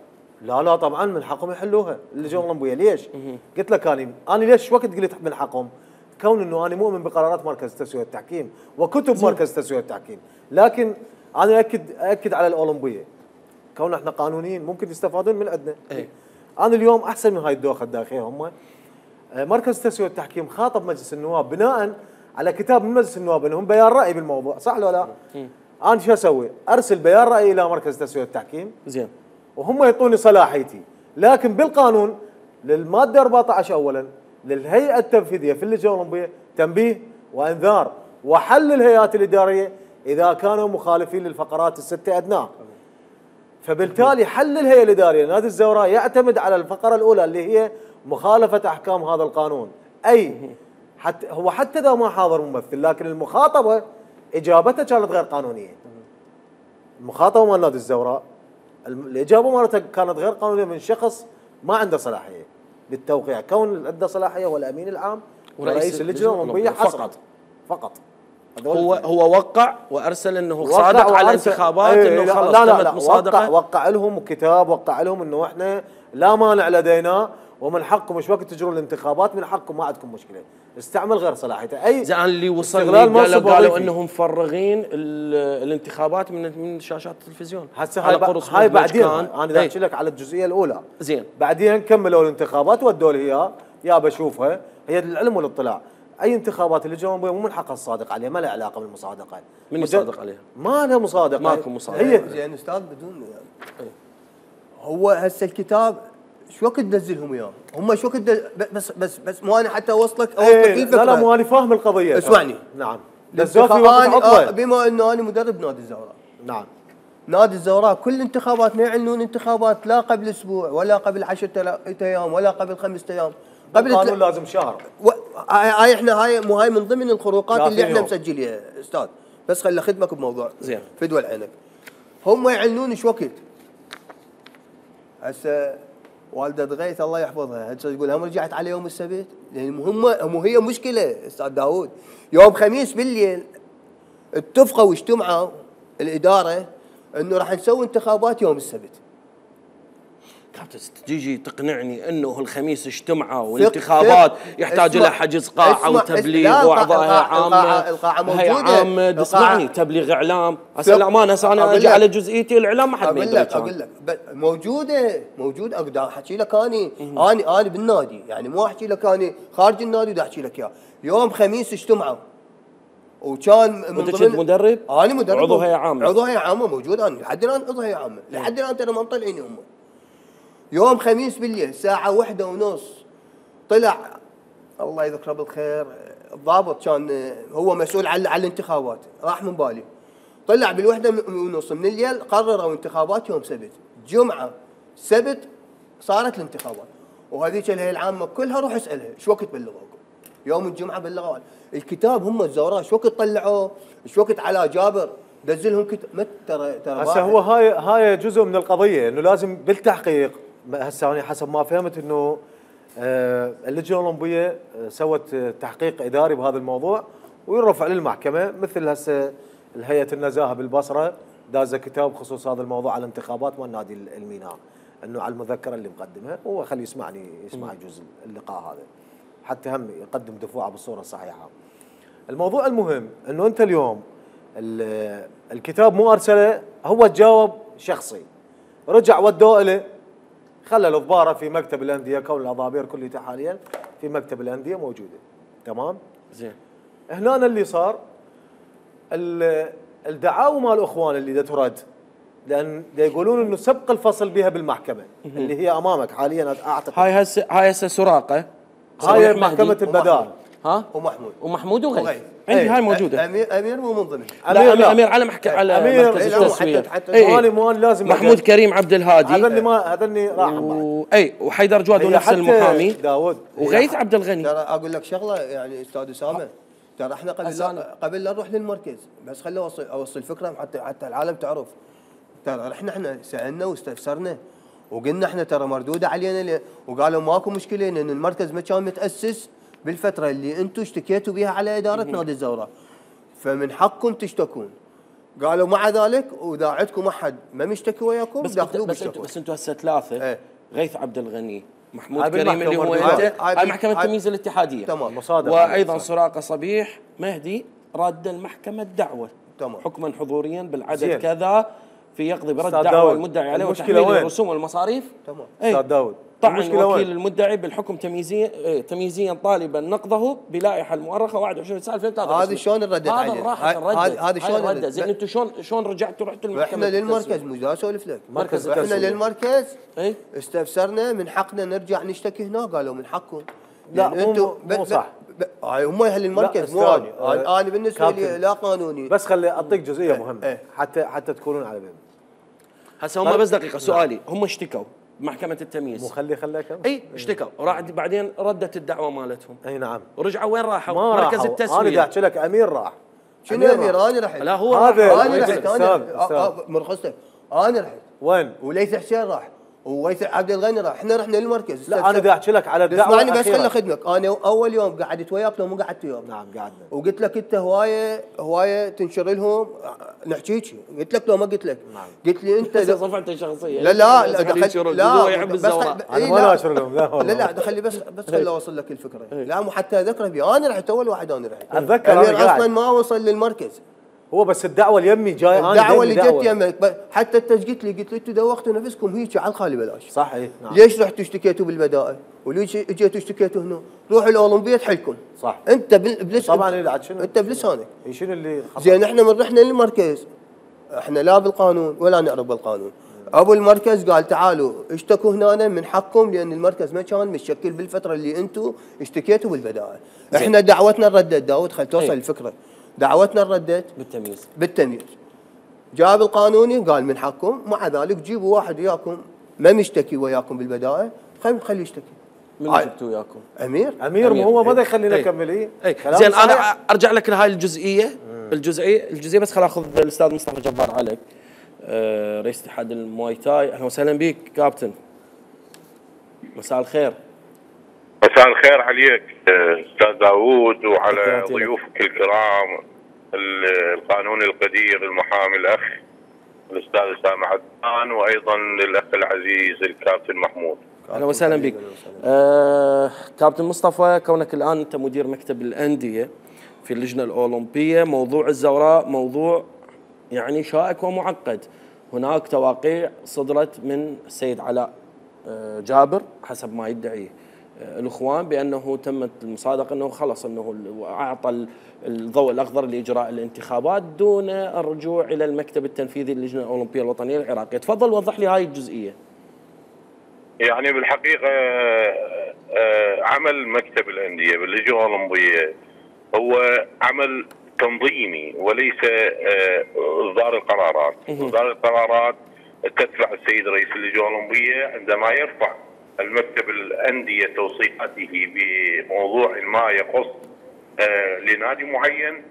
لا طبعا من حقهم يحلوها اللجنه الاولمبيه. ليش؟ قلت لك انا ليش وقت قلت من حقهم؟ كون انه انا مؤمن بقرارات مركز التسويه والتحكيم وكتب مركز التسويه والتحكيم، لكن انا اكد على الاولمبيه كون احنا قانونيين ممكن يستفادون من عندنا. أي. انا اليوم احسن من هاي الدوخه الداخليه هم مركز التسويه والتحكيم خاطب مجلس النواب بناء على كتاب من مجلس النواب انهم بيان راي بالموضوع، صح ولا لا؟ انا شو اسوي؟ ارسل بيان راي الى مركز التسويه والتحكيم زين وهم يعطوني صلاحيتي، لكن بالقانون للماده 14 اولا للهيئه التنفيذيه في اللجنه الاولمبيه تنبيه وانذار وحل الهيئات الاداريه اذا كانوا مخالفين للفقرات السته ادناه. فبالتالي حل الهيئه الاداريه لنادي الزوراء يعتمد على الفقره الاولى اللي هي مخالفه احكام هذا القانون، اي حتى اذا ما حاضر ممثل لكن المخاطبه اجابته كانت غير قانونيه. المخاطبه مال نادي الزوراء الاجابه مالته كانت غير قانونيه من شخص ما عنده صلاحيه للتوقيع، كون اللي عنده صلاحيه هو الامين العام ورئيس اللجنه الاولمبيه فقط. هو وقع وارسل انه صادق على الانتخابات انه خلص تمت مصادقه، وقع لهم كتاب، وقع لهم انه احنا لا مانع لدينا ومن حقكم مش وقت تجرون الانتخابات، من حقكم ما عندكم مشكله، استعمل غير صلاحيته. اي زين اللي وصل لي قالوا انهم مفرغين الانتخابات من شاشات التلفزيون. هسه هاي بعدين انا احكي لك على الجزئيه الاولى. زين بعدين كملوا الانتخابات ودوا لي اياه يا بشوفها هي العلم والاطلاع. اي انتخابات اللجنه الاولمبيه مو من حقها الصادق عليها، ما لها علاقه بالمصادقه. من يصادق عليها؟ ما لها مصادقه، ماكو مصادقه. هي زين استاذ بدون يعني هو هسه الكتاب شو وقت تنزلهم اياه؟ هم شو وقت بس مو انا حتى اوصلك الفكره. لا مو انا فاهم القضيه. اسمعني. نعم. بما انه انا مدرب نادي الزوراء. نعم. نادي الزوراء كل انتخابات ما يعلنون انتخابات لا قبل اسبوع ولا قبل 10 ايام ولا قبل 5 ايام. قبل القانون لازم شهر. هاي احنا هاي من ضمن الخروقات اللي احنا مسجليها استاذ، بس خلي خدمك بموضوع زين فدوى العنب. هم يعلنون ايش وقت؟ هسه والده غيث الله يحفظها هسه تقول هم رجعت على يوم السبت، لان هي مشكله استاذ داوود. يوم خميس بالليل اتفقوا واجتمعوا الاداره انه راح نسوي انتخابات يوم السبت. كابتن تجي تقنعني انه الخميس اجتمعوا والانتخابات يحتاج الى حجز قاعه وتبليغ واعضائها عامه. القاعه موجوده. هي عامه تسمعني تبليغ اعلام. هسه الامانه هسه انا اجي على جزئيتي الاعلام ما حد ما يدري. اقول لك موجود اقدر احكي لك انا بالنادي، يعني مو احكي لك انا خارج النادي بدي احكي لك اياه. يوم خميس اجتمعوا وكان من ضمن مدرب؟ انا مدرب عضو هيئه عامه. عضو هيئه عامه موجود انا لحد الان عضو هيئه عامه، لحد الان ترى ما مطلعيني هم. يوم خميس بالليل الساعة 1:30 طلع الله يذكره بالخير الضابط كان هو مسؤول على الانتخابات، راح من بالي. طلع بال1:30 من الليل قرروا انتخابات يوم سبت، جمعة سبت صارت الانتخابات، وهذيك الهيئة العامة كلها روح اسألها ايش وقت بلغوكم؟ يوم الجمعة بلغوا الكتاب هم الزوراء ايش وقت طلعوه؟ ايش وقت على جابر؟ دزلهم كتاب ترى هسه هو هاي جزء من القضية انه لازم بالتحقيق. هسه انا حسب ما فهمت انه اللجنه الاولمبيه سوت تحقيق اداري بهذا الموضوع ويرفع للمحكمه، مثل هسه الهيئه النزاهه بالبصره دازه كتاب بخصوص هذا الموضوع على انتخابات مال نادي الميناء، انه على المذكره اللي مقدمها. هو خليه يسمع جزء اللقاء هذا حتى هم يقدم دفوعه بالصوره الصحيحه. الموضوع المهم انه انت اليوم الكتاب مو ارسله، هو تجاوب شخصي، رجع ودوه له، خلى الضباره في مكتب الانديه، كون الاضابير كلها حاليا في مكتب الانديه موجوده. تمام؟ زين. هنا اللي صار الدعاوى مال الاخوان اللي ترد، لان يقولون انه سبق الفصل بها بالمحكمه اللي هي امامك حاليا اعتقد. هاي هسه سراقه. هاي محكمه البدال. ها؟ ومحمود وغيث. عندي هاي موجوده. امير مو من ضمن. امير على على مركز التسويه. مو لازم محمود كريم عبد الهادي. هذا اللي راح اي وحيدر جواد ونفس المحامي داود وغيث عبد الغني. ترى اقول لك شغله يعني استاذ اسامه، ترى احنا قبل لا نروح للمركز، بس خلي اوصل فكره حتى العالم تعرف. ترى احنا سالنا واستفسرنا وقلنا احنا ترى مردوده علينا وقالوا ماكو مشكله لان المركز ما كان متاسس بالفتره اللي انتم اشتكيتوا بها على اداره نادي الزوراء، فمن حقكم تشتكون. قالوا مع ذلك واذا عندكم احد ما مشتكي وياكم دخلوا بالشكوى. بس انتم هسه ثلاثه. غيث عبد الغني، محمود كريم اللي هو انت، هاي محكمه التمييز الاتحاديه. تمام. وايضا سراقه صبيح مهدي رد المحكمه الدعوه. تمام. حكما حضوريا بالعدد كذا في يقضي برد دعوى المدعي عليه وتحميل الرسوم والمصاريف. تمام. استاذ داود طعن المشكلة وكيل وين؟ المدعي بالحكم تمييزيا طالبا نقضه بلائحه المؤرخه 21 9 2023. هذا شلون نردد هذا عليه؟ راحت هذا شلون نردد. نردد؟ زين انتم شلون رجعتوا رحتوا المحكمه؟ احنا للمركز مش دا اسولف لك. مركز احنا التسوية. للمركز اي استفسرنا من حقنا نرجع نشتكي هنا، قالوا من حقكم. لا، يعني مو صح. هم اهل المركز مو استنى. انا. انا بالنسبه لي كابتن. لا قانوني. بس خلي اعطيك جزئيه مهمه إيه. حتى تكونون على بالنا. هسه هم بس دقيقه سؤالي، هم اشتكوا محكمه التمييز. مو خليك اي اشتكوا بعدين ردت الدعوه مالتهم، اي نعم. ورجعوا وين راحوا؟ ما مركز راحوا. التسويه. انا دا احكي لك امير راح. شنو امير؟ انا رحت. لا هو هذا راح. انا رحت. أستاذ. مرخصتك. انا رحت وين؟ وليث حسين راح وويث عبد الغني راح. احنا رحنا للمركز. لا انا دا احكي لك على الدعوه اسمعني بس الأخيرة. خل اخدمك. انا اول يوم قعدت وياك لو مو قعدت وياك. نعم قعدنا. وقلت لك انت هوايه تنشر لهم نحكيك. قلت لك لو ما قلت لك. نعم. قلت لي انت هسه صفحتي شخصيه. لا هو يحب الزوراء. انا ما ناشر لهم لا والله. لا خلي بس خلي اوصل لك الفكره. لا مو حتى اذكره بي. انا رحت اول واحد. انا رحت اتذكر امير أنا قاعد. اصلا ما وصل للمركز. هو بس الدعوه اليمي جاي انا الدعوه اللي دايماً جت يمك حتى انت قلت لي انتم دوختوا نفسكم هيك على الخالي بلاش. صح اي نعم. ليش رحتوا اشتكيتوا بالبدائل؟ وليش اجيتوا اشتكيتوا هنا؟ روحوا الاولمبيه تحلكم. صح. انت طبعا إيه شنو؟ انت بلسانك. شنو اللي زين احنا من رحنا للمركز احنا لا بالقانون ولا نعرف بالقانون. ابو المركز قال تعالوا اشتكوا هنا من حقكم لان المركز ما كان متشكل بالفتره اللي انتم اشتكيتوا بالبدائل. احنا دعوتنا ردت. داود خل توصل الفكره. دعوتنا ردت بالتمييز. جاب القانوني قال من حقكم، مع ذلك جيبوا واحد وياكم ما مشتكي وياكم بالبدائل خليه يشتكي. من جبتوا وياكم؟ امير مو هو ما يخلينا نكمل اي زين انا ارجع لك لهاي الجزئيه. الجزئيه بس خل اخذ الاستاذ مصطفى جبار عليك، رئيس اتحاد المواي تاي. اهلا وسهلا بك كابتن. مساء الخير. مساء الخير عليك استاذ داوود وعلى ضيوفك الكرام، القانوني القدير المحامي الاخ الاستاذ اسامه عدنان، وايضا للاخ العزيز الكابتن محمود. اهلا وسهلا بك. كابتن مصطفى، كونك الان انت مدير مكتب الانديه في اللجنه الاولمبيه، موضوع الزوراء موضوع يعني شائك ومعقد. هناك تواقيع صدرت من السيد علاء جابر حسب ما يدعي الاخوان بانه تمت المصادقه انه خلص انه اعطى الضوء الاخضر لاجراء الانتخابات دون الرجوع الى المكتب التنفيذي للجنه الاولمبيه الوطنيه العراقيه. تفضل وضح لي هاي الجزئيه. يعني بالحقيقه عمل مكتب الانديه باللجنه الاولمبيه هو عمل تنظيمي وليس اصدار القرارات. اصدار القرارات تتبع السيد رئيس اللجنه الاولمبيه عندما يرفع المكتب الانديه توصياته بموضوع ما يخص لنادي معين،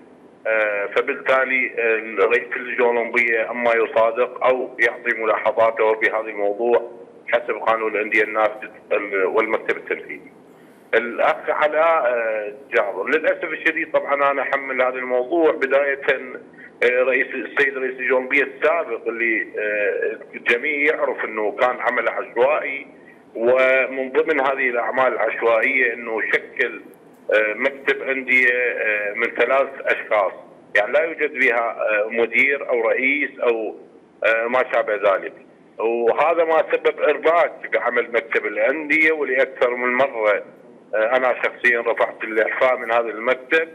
فبالتالي رئيس اللجنه الاولمبيه اما يصادق او يعطي ملاحظاته بهذا الموضوع حسب قانون الانديه النافذ والمكتب التنفيذي. الاخ علاء جابر للاسف الشديد طبعا انا احمل هذا الموضوع بدايه السيد رئيس اللجنه الاولمبيه السابق اللي الجميع يعرف انه كان عمل عشوائي، ومن ضمن هذه الاعمال العشوائيه انه شكل مكتب انديه من 3 اشخاص، يعني لا يوجد بها مدير او رئيس او ما شابه ذلك. وهذا ما سبب ارباك بعمل مكتب الانديه، ولاكثر من مره انا شخصيا رفعت الاعفاء من هذا المكتب.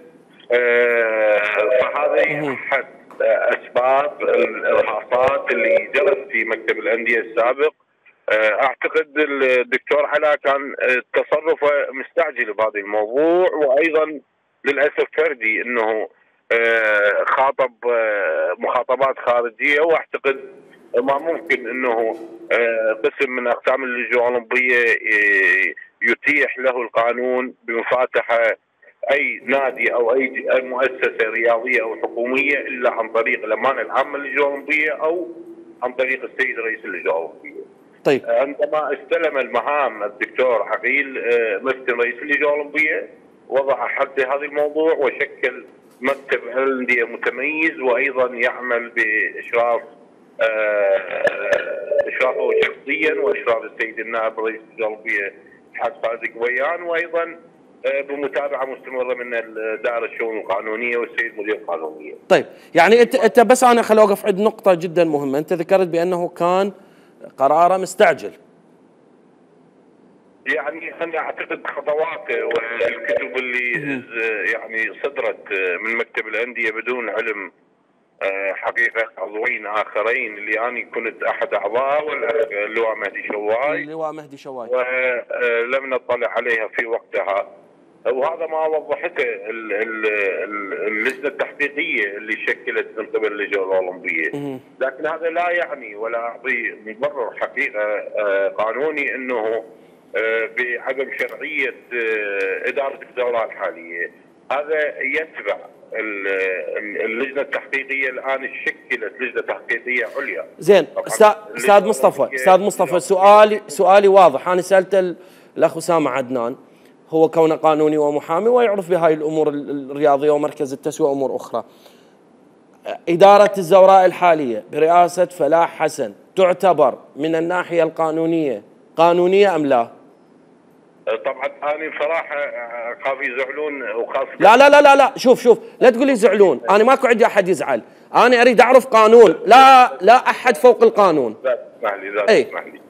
فهذه احد اسباب الارهاصات اللي جرت في مكتب الانديه السابق. اعتقد الدكتور علاء كان تصرفه مستعجل بهذا الموضوع، وايضا للاسف فردي انه خاطب مخاطبات خارجيه، واعتقد ما ممكن انه قسم من اقسام اللجنه الاولمبيه يتيح له القانون بمفاتحه اي نادي او اي مؤسسه رياضيه او حكوميه الا عن طريق الامانه العامه للجنه الاولمبيه او عن طريق السيد رئيس اللجنه الاولمبيه. طيب عندما استلم المهام الدكتور عقيل مسكن رئيس اللجنه الاولمبيه وضع حد هذا الموضوع وشكل مكتب انديه متميز، وايضا يعمل باشرافه شخصيا واشراف السيد النائب رئيس اللجنه الاولمبيه الحاج خالد قويان، وايضا بمتابعه مستمره من دائره الشؤون القانونيه والسيد مدير القانونيه. طيب يعني انت بس انا خل اوقف عند نقطه جدا مهمه، انت ذكرت بانه كان قراره مستعجل. يعني انا اعتقد خطواته والكتب اللي يعني صدرت من مكتب الانديه بدون علم حقيقه عضوين اخرين اللي انا كنت احد اعضاء واللواء مهدي شواي. اللواء مهدي شواي. ولم نطلع عليها في وقتها، وهذا ما وضحته اللجنه التحقيقيه اللي شكلت من قبل اللجنه الاولمبيه، لكن هذا لا يعني ولا يعطي مبرر حقيقه قانوني انه بعدم شرعيه اداره الدوره الحاليه. هذا يتبع اللجنه التحقيقيه. الان شكلت لجنه تحقيقيه عليا. زين استاذ مصطفى سؤالي واضح. انا سالت الاخ اسامه عدنان، هو كونه قانوني ومحامي ويعرف بهاي الامور الرياضيه ومركز التسويه وامور اخرى. اداره الزوراء الحاليه برئاسه فلاح حسن تعتبر من الناحيه القانونيه قانونيه ام لا؟ طبعا انا بصراحه اخاف يزعلون وخاصه لا شوف لا تقول لي يزعلون، انا ماكو عندي احد يزعل، انا اريد اعرف قانون، لا احد فوق القانون. اسمح لي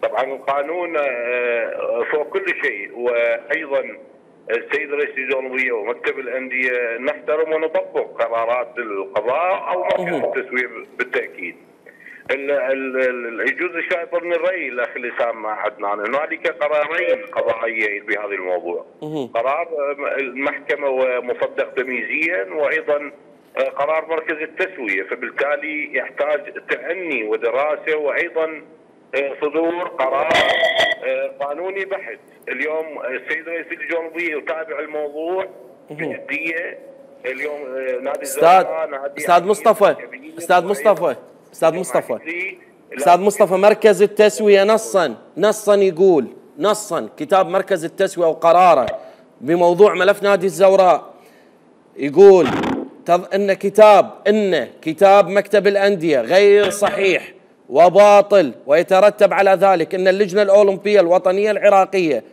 طبعا القانون فوق كل شيء، وايضا السيد رئيس اللجنه الاولمبيه ومكتب الانديه نحترم ونطبق قرارات القضاء او مركز التسويه بالتاكيد. يجوز الشائطه من الراي الاخ اسامه عدنان، هنالك قرارين قضائيين بهذا الموضوع، قرار المحكمه ومصدق تمييزيا، وايضا قرار مركز التسويه، فبالتالي يحتاج تأني ودراسه وايضا صدور قرار قانوني بحت. اليوم السيد رئيس اللجنه الاولمبيه يتابع الموضوع بجديه. اليوم نادي استاذ مصطفى مركز التسويه نصا يقول كتاب مركز التسويه وقراره بموضوع ملف نادي الزوراء يقول ان كتاب مكتب الانديه غير صحيح وباطل، ويترتب على ذلك ان اللجنه الاولمبيه الوطنيه العراقيه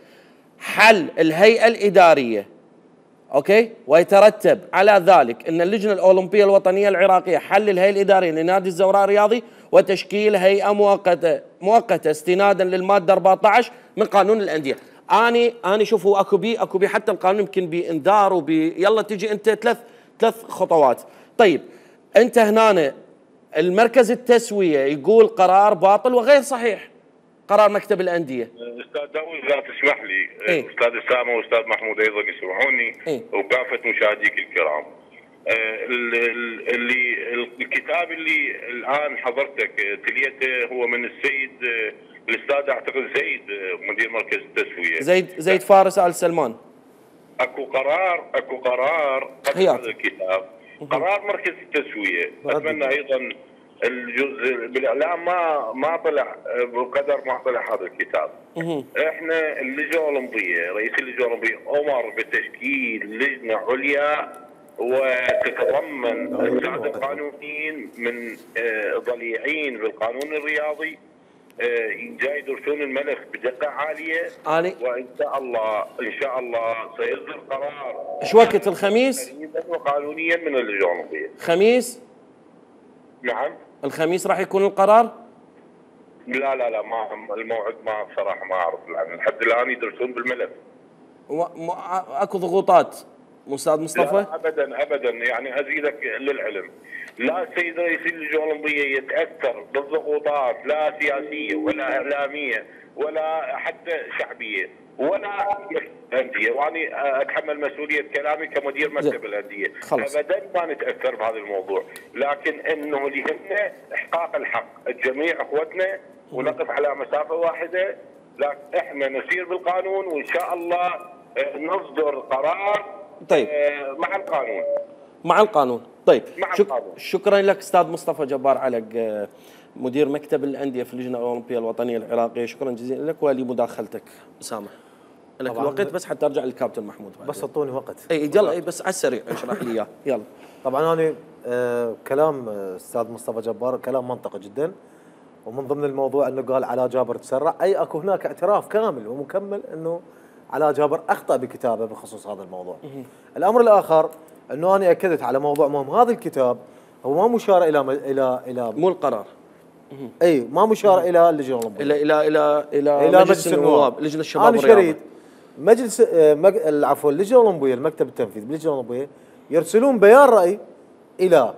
حل الهيئه الاداريه، اوكي، ويترتب على ذلك ان اللجنه الاولمبيه الوطنيه العراقيه حل الهيئه الاداريه لنادي الزوراء الرياضي وتشكيل هيئه مؤقته استنادا للماده 14 من قانون الانديه. اني شوفوا اكو بي حتى القانون يمكن بانذار يلا تجي انت ثلاث خطوات. طيب انت هنا المركز التسويه يقول قرار باطل وغير صحيح، قرار مكتب الانديه. استاذ داوود اذا تسمح لي، استاذ اسامه واستاذ محمود ايضا يسمعوني، وكافه مشاهديك الكرام، الكتاب اللي الان حضرتك تليته هو من السيد الاستاذ اعتقد زيد مدير مركز التسويه، زيد فارس ال سلمان. اكو قرار هذا الكتاب، قرار مركز التسويه. اتمنى ايضا الجزء بالاعلام ما طلع بقدر ما طلع هذا الكتاب. احنا اللجنه الاولمبيه، رئيس اللجنه الاولمبيه امر بتشكيل لجنه عليا وتتضمن الساده القانونيين من ضليعين بالقانون الرياضي جاي يدرسون الملف بدقه عاليه، وان شاء الله سيصدر قرار. ايش وقت الخميس؟ وقانونيا من اللجنه الاولمبيه. خميس؟ نعم. الخميس راح يكون القرار؟ لا ما الموعد ما بصراحه ما اعرف، لحد الان يدرسون بالملف. اكو ضغوطات استاذ مصطفى؟ لا ابدا يعني ازيدك للعلم، لا السيد رئيس اللجنه الاولمبيه يتاثر بالضغوطات لا سياسيه ولا اعلاميه ولا حتى شعبيه ولا انديه، واني اتحمل مسؤوليه كلامي كمدير مكتب الانديه. ابدا ما نتاثر بهذا الموضوع، لكن انه اللي يهمنا احقاق الحق الجميع اخوتنا ونقف على مسافه واحده، لكن احنا نسير بالقانون وان شاء الله نصدر قرار طيب مع القانون. طيب شكرا لك استاذ مصطفى جبار علق مدير مكتب الانديه في اللجنه الاولمبيه الوطنيه العراقيه، شكرا جزيلا لك ولمداخلتك. اسامه لك الوقت بس حتى ارجع للكابتن محمود بس اعطوني وقت. يلا بس على السريع اشرح لي اياه يلا. طبعا انا كلام استاذ مصطفى جبار كلام منطقي جدا، ومن ضمن الموضوع انه قال علاء جابر تسرع، اي اكو هناك اعتراف كامل ومكمل انه علاء جابر اخطا بكتابه بخصوص هذا الموضوع. الامر الاخر انه انا اكدت على موضوع مهم، هذا الكتاب هو ما مشار الى مو القرار اي ما مشار الى اللجنه الاولمبيه، الى مجلس النواب، لجنه الشباب انا والرياضه. شريت مجلس عفوا اللجنه الاولمبيه، المكتب التنفيذي باللجنه الاولمبيه يرسلون بيان راي الى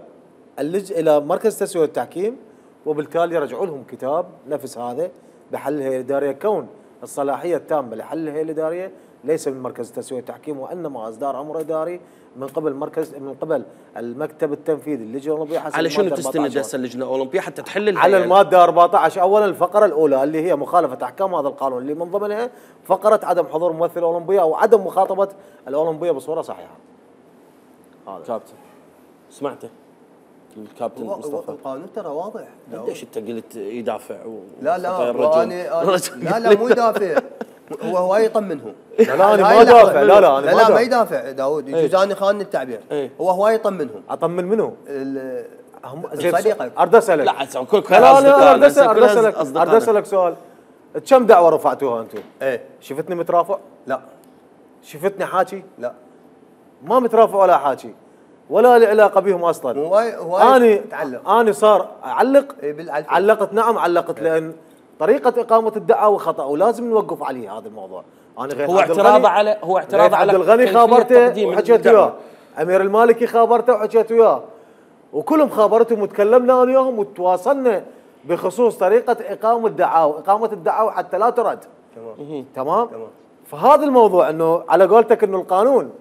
الى مركز التسويه والتحكيم، وبالتالي يرجعوا لهم كتاب نفس هذا بحل الهيئه الاداريه، كون الصلاحيه التامه لحل الهيئه الاداريه ليس من مركز التسويه والتحكيم، وانما اصدار امر اداري من قبل المكتب التنفيذي للجنه الاولمبيه حسب على شنو تستند هسه اللجنه الاولمبيه حتى تحل الهيئة؟ على الماده 14 اولا الفقره الاولى اللي هي مخالفه احكام هذا القانون، اللي من ضمنها فقره عدم حضور ممثل اولمبيه او عدم مخاطبه الاولمبيه بصوره صحيحه. هذا كابتن سمعته الكابتن مصطفى. القانون ترى واضح. ليش انت قلت يدافع لا لا مو يدافع، هو هواي يطمنهم. لا انا ما دافع، لا ما يدافع داوود، يجوز انا خان التعبير. هو هواي يطمنهم. اطمن منه؟ صديقك. ارد اسالك. لا كل ارد اسالك سؤال. كم دعوه رفعتوها انتم؟ ايه شفتني مترافع؟ لا. شفتني حاكي؟ لا. ما مترافع ولا حاكي ولا له علاقه بهم اصلا. هواي انا صار اعلق. إيه علقت نعم علقت إيه. لان طريقه اقامه الدعوه خطا ولازم نوقف عليه هذا الموضوع. انا غير اعتراض على عبد الغني خابرته وحكيت وياه، امير المالكي خابرته وحكيت وياه، وكلهم خابرتهم وتكلمنا انا وياهم وتواصلنا بخصوص طريقه اقامه الدعاوى حتى لا ترد. تمام. فهذا الموضوع انه على قولتك انه القانون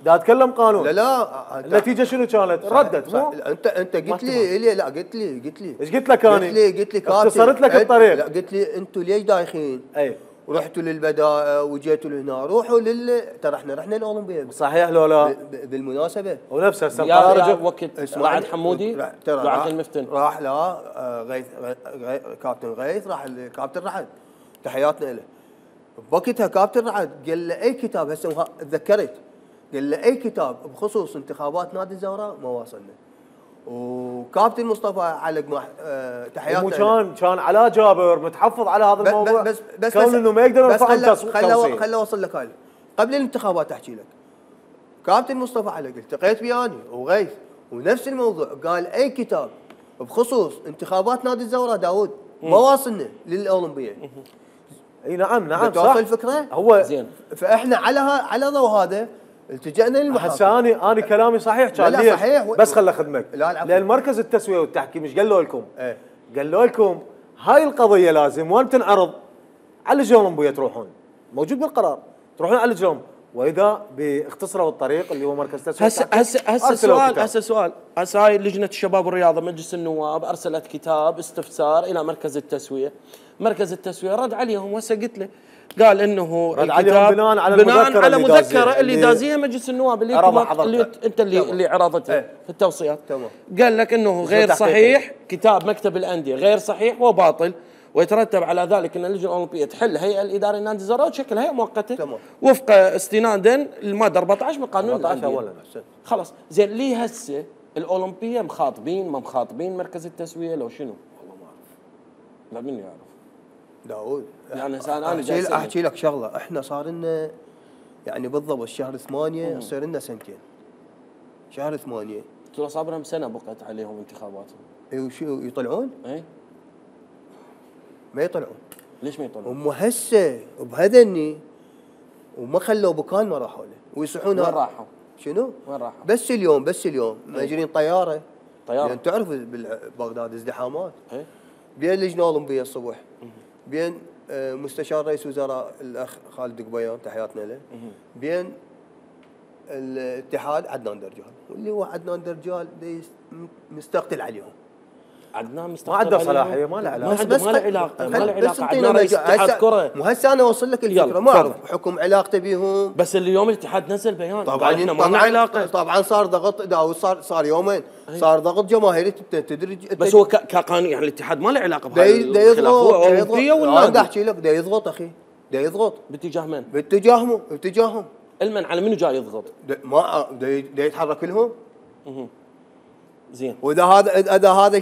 دا اتكلم قانون. لا النتيجه شنو كانت؟ ردت. مو انت قلت لي لا قلت لي ايش قلت لك انا؟ قلت لي اختصرت لك الطريق. لا قلت لي انتم ليش دايخين؟ اي ورحتوا للبدائع وجيتوا لهنا، روحوا ترى احنا رحنا الاولمبياد. صحيح لو لا؟ بالمناسبه ونفس هسه يا وقت رعد حمودي رعد المفتن راح لا غيث كابتن غيث راح الكابتن رعد، تحياتنا له. بوقتها كابتن رعد قال له اي كتاب، هسه تذكرت، قال له اي كتاب بخصوص انتخابات نادي الزهراء ما واصلنا. وكابتن مصطفى علق تحياتنا كان علاء جابر متحفظ على هذا الموضوع، بس كون انه ما يقدر يرفع التصويت. خل اوصل لك هاي قبل الانتخابات احكي لك. كابتن مصطفى علق التقيت وياني وغيث ونفس الموضوع، قال اي كتاب بخصوص انتخابات نادي الزهراء داوود ما واصلنا للاولمبيه. اي نعم صح الفكره. هو زين. فاحنا على ضوء هذا التجأنا للمحاكم. هسه انا كلامي صحيح كان. لا صحيح بس خل اخدمك. لان مركز التسويه والتحكيم ايش قالوا لكم؟ ايه قالوا لكم هاي القضيه لازم وين تنعرض على اللجنه الاولمبيه، تروحون موجود بالقرار تروحون على اللجنه الاولمبيه، واذا باختصروا الطريق اللي هو مركز التسويه هسه سؤال هسه هاي لجنه الشباب والرياضه مجلس النواب ارسلت كتاب استفسار الى مركز التسويه، مركز التسويه رد عليهم. وهسه قلت له قال انه رد عليهم بناء على المذكره اللي دازيها مجلس النواب اللي انت اللي عرضتها في التوصيات. تمام. قال لك انه غير صحيح، كتاب مكتب الانديه غير صحيح وباطل، ويترتب على ذلك ان اللجنه الاولمبيه تحل الهيئه الاداريه لنادي الزهراء وتشكل هيئه مؤقته وفق استنادا للماده 14 من قانون 14 اولا. خلاص زين. ليه هسه الاولمبيه مخاطبين ما مخاطبين مركز التسويه لو شنو؟ والله ما اعرف. لا مني اعرف داوود. يعني انا احكي لك شغله، احنا صار لنا يعني بالضبط شهر 8 صار لنا سنتين. شهر 8 ترى صار لهم سنه بقت عليهم انتخاباتهم. اي وشو يطلعون؟ اي ما يطلعون. ليش ما يطلعون؟ هم هسه بهذني وما خلوا بكان ما راحوا له ويصحون. وين راحوا؟ شنو؟ وين راحوا؟ بس اليوم ماجرين طياره. يعني تعرف ببغداد ازدحامات. بين اللجنه الاولمبيه الصبح، بين مستشار رئيس وزراء الاخ خالد قبيان تحياتنا له، بين الاتحاد عدنان درجال، واللي هو عدنان درجال مستقتل عليهم. عدنان مستقبل ما عنده صلاحيه، ما له علاقه. ما له علاقه عدنان رئيس اتحاد كره. مو هسه انا اوصل لك الفكره، ما اعرف حكم علاقته بيهم. بس اليوم الاتحاد نزل بيان طبعا احنا ما لنا علاقه. طبعا صار ضغط داوود، صار يومين صار ضغط جماهيري تدرج. بس هو كقانون يعني الاتحاد ما له علاقه بهاي الخلاف، هو اولمبيه ولا انا احكي لك دا يضغط اخي، دا يضغط باتجاه من؟ باتجاههم. المن على منو جاي يضغط؟ ما دا يتحرك لهم. زين. واذا هذا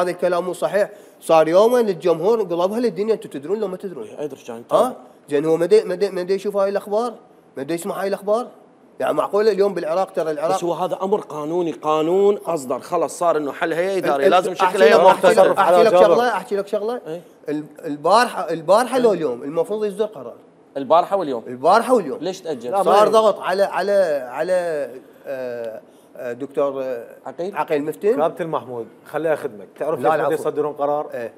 الكلام مو صحيح، صار يومين الجمهور قلبها للدنيا. انتم تدرون لو ما تدرون؟ ادري كان زين. هو ما يشوف هاي الاخبار، ما يسمع هاي الاخبار. يعني معقوله اليوم بالعراق ترى بس العراق هو هذا امر قانوني، قانون اصدر خلاص صار انه حل هيئه اداريه لازم شكل هيئه مؤقتة. احكي لك شغله البارحه لو اليوم المفروض يصدر قرار. البارحه واليوم ليش تاجل؟ صار ضغط على دكتور عقيل مفتن. كابتن محمود خليني اخدمك، تعرف لا، ليش العفو. يصدرون قرار؟ ايه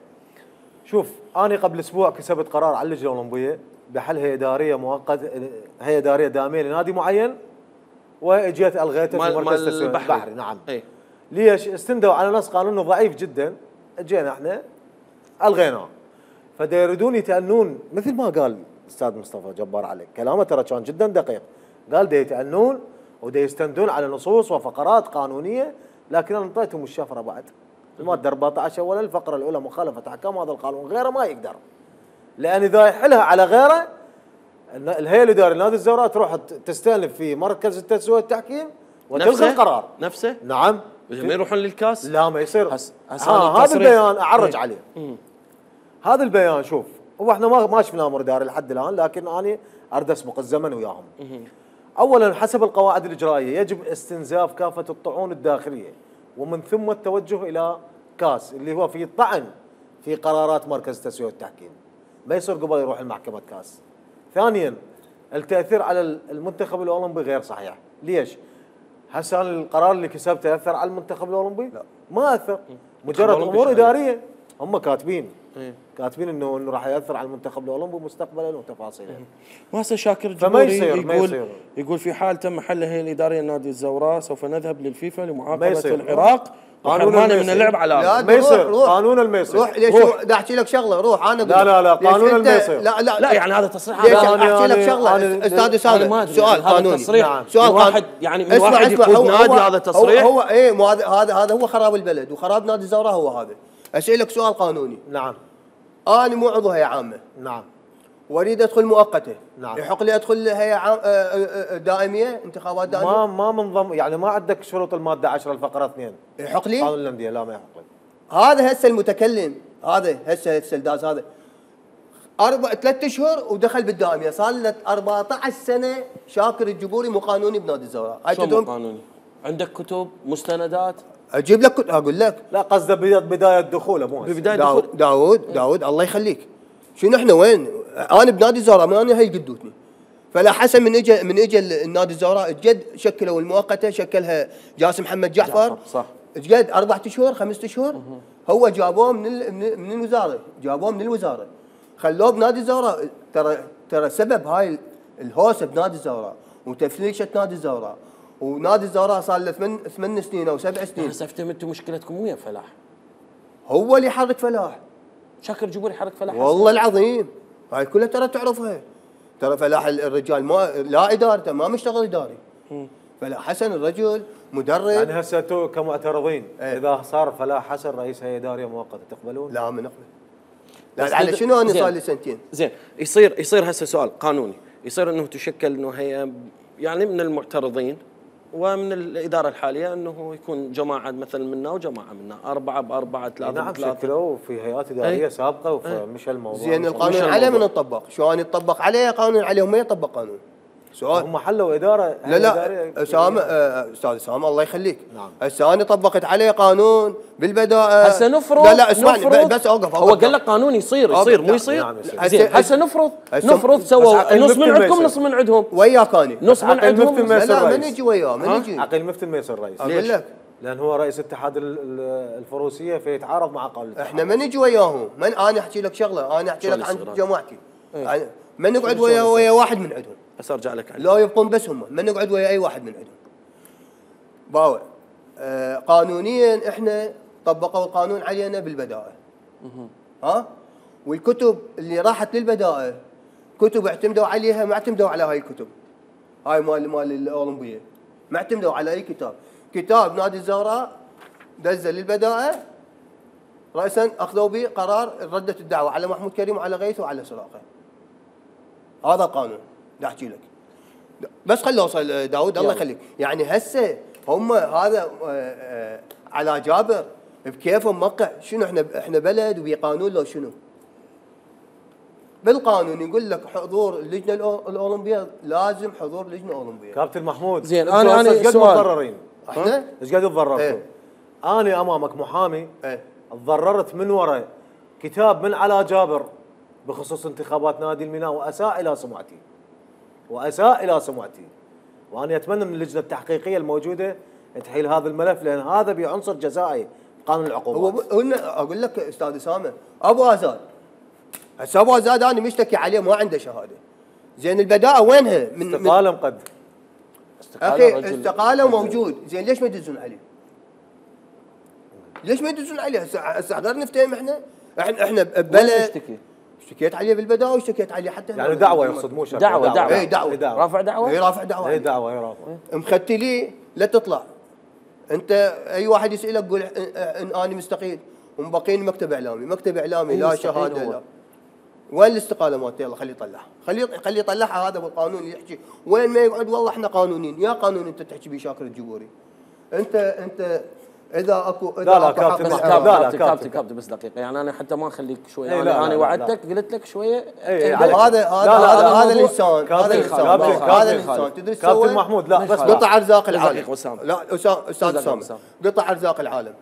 شوف انا قبل اسبوع كسبت قرار على اللجنه الاولمبيه بحل هيئه اداريه مؤقته، هيئه اداريه دائميه لنادي معين، واجيت الغيته في مركز التسويق البحري. نعم. ايه ليش؟ استندوا على نص قانونه ضعيف جدا، اجينا احنا الغيناه. فدا يريدون يتأنون مثل ما قال الاستاذ مصطفى جبار عليك، كلامه ترى كان جدا دقيق. قال دا يتأنون ودا يستندون على نصوص وفقرات قانونيه، لكن انا انطيتهم الشفره بعد. الماده 14 اولا الفقره الاولى مخالفه احكام هذا القانون، غيره ما يقدر. لان اذا يحلها على غيره الهيئه الاداريه لنادي الزوراء تروح تستأنف في مركز التسويق والتحكيم وتلغي القرار. نفسه؟ نعم. ما يروحون للكاس؟ لا ما يصير. هذا البيان اعرج عليه. هذا البيان شوف، هو احنا ما شفنا امر اداري لحد الان، لكن انا اريد اسبق الزمن وياهم. اولا حسب القواعد الاجرائيه يجب استنزاف كافه الطعون الداخليه، ومن ثم التوجه الى كاس اللي هو في طعن في قرارات مركز التسويق والتحكيم. ما يصير قبل يروح المحكمه كاس. ثانيا التاثير على المنتخب الاولمبي غير صحيح. ليش؟ هسه القرار اللي كسبته اثر على المنتخب الاولمبي؟ لا ما اثر، مجرد امور اداريه هم كاتبين. كاتبين انه راح ياثر على المنتخب الاولمبي مستقبلا وتفاصيله. وهسه شاكر الجبوري يقول في حال تم حل الهيئه الاداريه لنادي الزوراء سوف نذهب للفيفا لمعاقبه العراق وحرمانه من اللعب على ما يصير. قانون الميسر. روح ليش بدي احكي لك شغله، روح انا لا قانون الميسر. لا يعني هذا تصريح. ليش احكي لك شغله استاذ اسامه؟ سؤال قانوني. سؤال واحد يعني من واحد يقود نادي، هذا تصريح. هو ايه هذا هو خراب البلد وخراب نادي الزوراء هو هذا. اسالك سؤال قانوني. نعم. انا مو عضو هيئه عامه. نعم. واريد ادخل مؤقته. نعم. يحق لي ادخل هيئه دائميه، انتخابات دائميه؟ ما منظم يعني ما عندك شروط الماده 10 الفقره 2. يحق لي؟ قانون الانديه لا ما يحق لك. هذا هسه المتكلم، هذا هسه الداز هذا 3 اشهر ودخل بالدائميه، صار له 14 سنه شاكر الجبوري مو قانوني بنادي الزوراء. شلون مو قانوني؟ عندك كتب مستندات؟ اجيب لك اقول لك. لا قصده بدايه دخوله مو ببدايه دخول. داود الله يخليك. شنو احنا وين؟ انا بنادي الزوراء ما انا هي قدوتني. فلا حسن من اجى النادي الزوراء جد شكلوا المؤقته، شكلها جاسم محمد جعفر. صح. جد 4 اشهر 5 اشهر هو جابوه من الوزاره، جابوه من الوزاره خلوه بنادي الزوراء. ترى سبب هاي الهوسه بنادي الزوراء وتفليشه نادي الزوراء، ونادي الزوراء صار له 8 سنين او 7 سنين. هسه افتهمتوا مشكلتكم ويا فلاح. هو اللي يحرك فلاح. شاكر الجبوري يحرك فلاح والله العظيم هاي كلها ترى تعرفها. ترى فلاح الرجال لا ادارته ما مشتغل اداري. فلاح حسن الرجل مدرب. يعني هسه انتم كمعترضين اذا صار فلاح حسن رئيس هيئه اداريه مؤقته تقبلون؟ لا ما نقبل. لا على شنو انا صار لي سنتين. زين يصير هسه سؤال قانوني، يصير انه تشكل انه هيئه يعني من المعترضين ومن الاداره الحاليه انه يكون جماعه مثلا منا وجماعه منا 4 ب4 3 نعم ب3. شكلوا في هيئات اداريه سابقه ومشى الموضوع. زين القانون عليه من يطبق؟ شلون يطبق عليه قانون عليهم ما يطبق قانون؟ سؤال. هم حلوا اداره. لا اسامه استاذ اسامه الله يخليك. نعم. هسه انا طبقت عليه قانون بالبدايه. هسه نفرض. لا اسمعني بس اوقف. هو قال لك قانون يصير مو يصير. نعم زين هسه نفرض سووا نص من عندكم نص من عندهم. وياك انا نص من عندهم. لا ما نجي وياه ما نجي. عقيل مفتي الميسر رئيس. اقول لك لان هو رئيس اتحاد الفروسيه فيتعارض مع قانون الاتحاد. احنا ما نجي وياهم. انا احكي لك شغله، انا احكي لك عن جماعتي. ما نقعد ويا واحد من عندهم. بس ارجع لك عليه. لا يبقون بس هم، ما نقعد ويا اي واحد من عندهم. باوع قانونيا احنا طبقوا القانون علينا بالبدائل. والكتب اللي راحت للبدائل كتب اعتمدوا عليها، ما اعتمدوا على هاي الكتب. هاي مال الاولمبيه ما اعتمدوا على اي كتاب نادي الزوراء دزل للبدائل راسا اخذوا به قرار ردت الدعوه على محمود كريم وعلى غيث وعلى سراقه. هذا القانون بدي احكي لك. بس خلي اوصل داود الله يخليك. يعني هسه هم هذا على جابر بكيفهم موقع. شنو احنا بلد وبقانون لو شنو؟ بالقانون يقول لك حضور اللجنه الاولمبيه، لازم حضور لجنه اولمبيه. كابتن محمود زين، أنا ايش قد سؤال. متضررين؟ احنا ايش قد تضررتوا؟ إيه. انا امامك محامي ايه تضررت من وراء كتاب من على جابر بخصوص انتخابات نادي الميناء، واساء الى سمعتي، وانا اتمنى من اللجنه التحقيقيه الموجوده تحيل هذا الملف، لان هذا بعنصر جزائي قانون العقوبات. هو اقول لك استاذ اسامه، ابو ازاد هسه ابو ازاد انا مشتكي عليه ما عنده شهاده. زين البداءه وينها؟ استقاله مقدم. اخي استقاله موجود، زين ليش ما يدزون عليه؟ ليش ما يدزون عليه؟ هسه غير نفتهم احنا ببلد اشتكيت عليه بالبدايه واشتكيت عليه حتى يعني دعوه يقصد مو شرط. دعوه اي دعوه رافع دعوه؟ اي رافع دعوه. اي دعوه رافع. مختلي لا تطلع. انت اي واحد يسالك قول ان انا مستقيل ومبقين مكتب اعلامي لا شهاده لا. وين الاستقاله مالته؟ يلا خليه يطلعها، خليه يطلعها. هذا بالقانون اللي يحكي وين ما يقعد والله احنا قانونيين. يا قانون انت تحكي بيه شاكر الجبوري. انت اذا اكو لا كابتن بس دقيقه، يعني انا حتى ما اخليك شويه. انا وعدتك قلت لك شويه. هذا الانسان تدري كابتن محمود لا بس قطع ارزاق العالم. لا استاذ اسامه قطع ارزاق العالم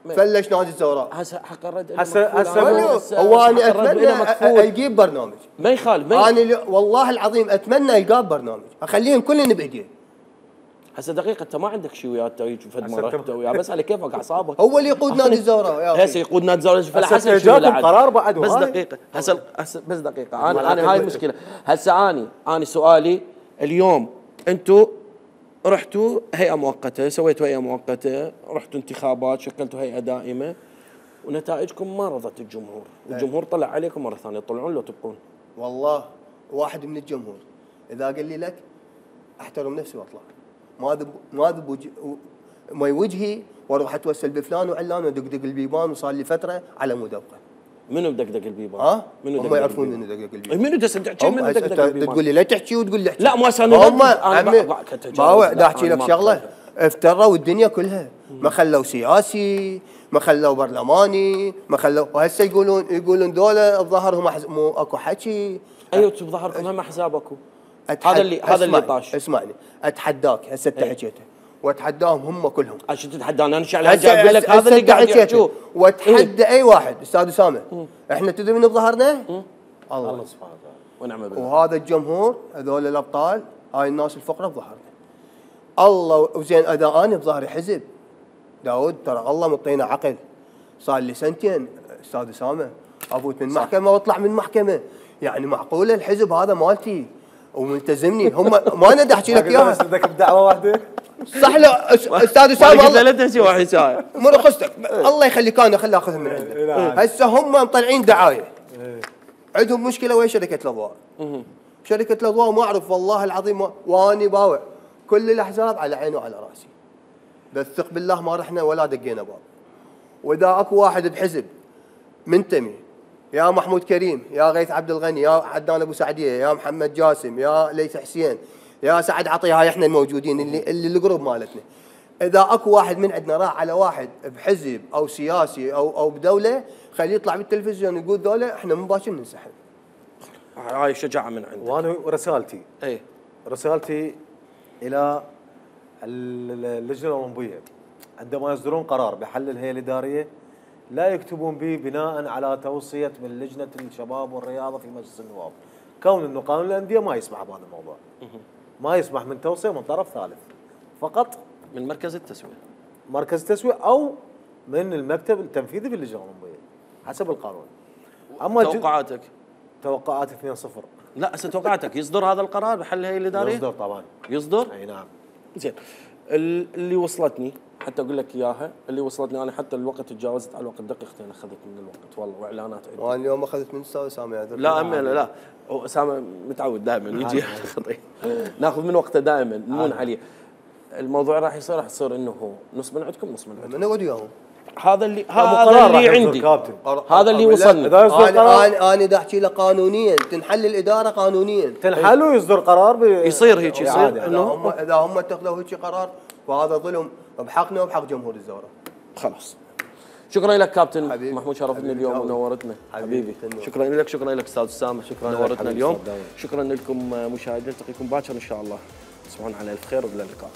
فلش نادي الزوراء. هسه حق الرد هسه هو انا اتمنى يجيب برنامج ما يخالف. انا والله العظيم اتمنى يلقى برنامج اخليهم كلهم بايديه. هسه دقيقه انت ما عندك شيء وياه تسوي فد مره وياه بس على كيفك اعصابك. هو اللي يقود نادي الزوراء يا اخي. هسه يقود نادي الزوراء فلا حسن جاكم قرار بعد. بس دقيقه هسه بس دقيقه انا هاي المشكله. هسه انا سؤالي اليوم انتم رحتوا هيئه مؤقته، سويتوا هيئه مؤقته، رحتوا انتخابات، شكلتوا هيئه دائمه ونتائجكم ما رضت الجمهور، والجمهور طلع عليكم مره ثانيه تطلعون لو تبقون. والله واحد من الجمهور اذا قال لي لك احترم نفسي واطلع ما ذب ما وجهي واروح اتوسل بفلان وعلان ودقدق البيبان وصار لي فتره على مود ابقى. منو بدقدق البيبان؟ منو هم يعرفون منو دقدق البيبان؟ منو تحكي منو دقدق البيبان؟ تقول لي لا تحكي وتقول لي احكي. لا مو هسه هم باوع دا احكي لك شغله افتروا الدنيا كلها، ما خلوا سياسي، ما خلوا برلماني، ما خلوا وهسه يقولون ذولا بظهرهم مو اكو حكي. ايوه بظهركم هم احزاب اكو. هذا اللي طاش. اسمعني اتحداك هسه انت حكيته واتحداهم هم كلهم. عشان تتحداني انا شعلي هسه اقول لك هذا اللي قاعد يحكوه. واتحدى اي واحد استاذ اسامه. احنا تدري من بظهرنا؟ الله سبحانه وتعالى ونعم بالله. وهذا الجمهور هذول الابطال هاي الناس الفقراء بظهرنا. الله وزين اذا انا بظهري حزب داود ترى الله مطينا عقل. صار لي سنتين استاذ اسامه افوت من محكمه واطلع من محكمه، يعني معقوله الحزب هذا مالتي وملتزمني هم ما انا احكي لك اياها. بس بدك بدعوه واحده صح له استاذ اسامه والله لا تحكي واحد ساعه مرخصتك الله يخليك انا خلي اخذهم من عندك. هسه هم مطلعين دعايه عندهم مشكله ويا شركه الاضواء. شركه الاضواء ما اعرف والله العظيم واني باوع كل الاحزاب على عيني وعلى راسي، بس ثق بالله ما رحنا ولا دقينا باب. واذا اكو واحد بحزب منتمي يا محمود كريم يا غيث عبد الغني يا عدنان ابو سعديه يا محمد جاسم يا ليث حسين يا سعد عطيه، هاي احنا الموجودين اللي الجروب مالتنا، اذا اكو واحد من عندنا راح على واحد بحزب او سياسي او بدوله خليه يطلع بالتلفزيون يقول ذولا احنا مباشر ننسحب. هاي شجاعه من عندك. وانا رسالتي اي رسالتي الى اللجنه الاولمبيه عندما يصدرون قرار بحل الهيئه الاداريه لا يكتبون به بناء على توصيه من لجنه الشباب والرياضه في مجلس النواب، كون انه قانون الانديه ما يسمح بهذا الموضوع. ما يسمح من توصيه من طرف ثالث، فقط من مركز التسويه. مركز التسويه او من المكتب التنفيذي في اللجنه الاولمبيه حسب القانون. اما توقعاتك؟ توقعات 2-0. لا هسه توقعاتك يصدر هذا القرار بحل الهيئه الاداريه؟ يصدر طبعا. يصدر؟ اي نعم. زين اللي وصلتني حتى اقول لك اياها، اللي وصلتني انا حتى الوقت تجاوزت على الوقت دقيقتين اخذت من الوقت والله واعلانات عندي. وانا اليوم اخذت من استاذ اسامه. لا لا اسامه متعود دائما يجي خطي ناخذ من وقته دائما نمون عليه. الموضوع راح يصير انه نص من عندكم نص من عندكم. من اقعد وياهم. هذا اللي عندي، هذا اللي وصلنا. انا دا احكي لك قانونيا تنحل الاداره قانونيا تنحل ويصدر قرار يصير هيك يصير انه اذا هم اتخذوا هيك قرار فهذا ظلم بحقنا وبحق جمهور الزوراء. خلاص شكرا لك كابتن حبيبي. محمود، شرفتنا حبيبي اليوم داود. ونورتنا حبيبي. شكرا لك، شكرا لك استاذ اسامه، شكراً لك نورتنا حبيبي اليوم. أستاذ داود. شكرا لكم مشاهدينا، نلتقيكم باكر ان شاء الله. تصبحون على الف خير والى اللقاء.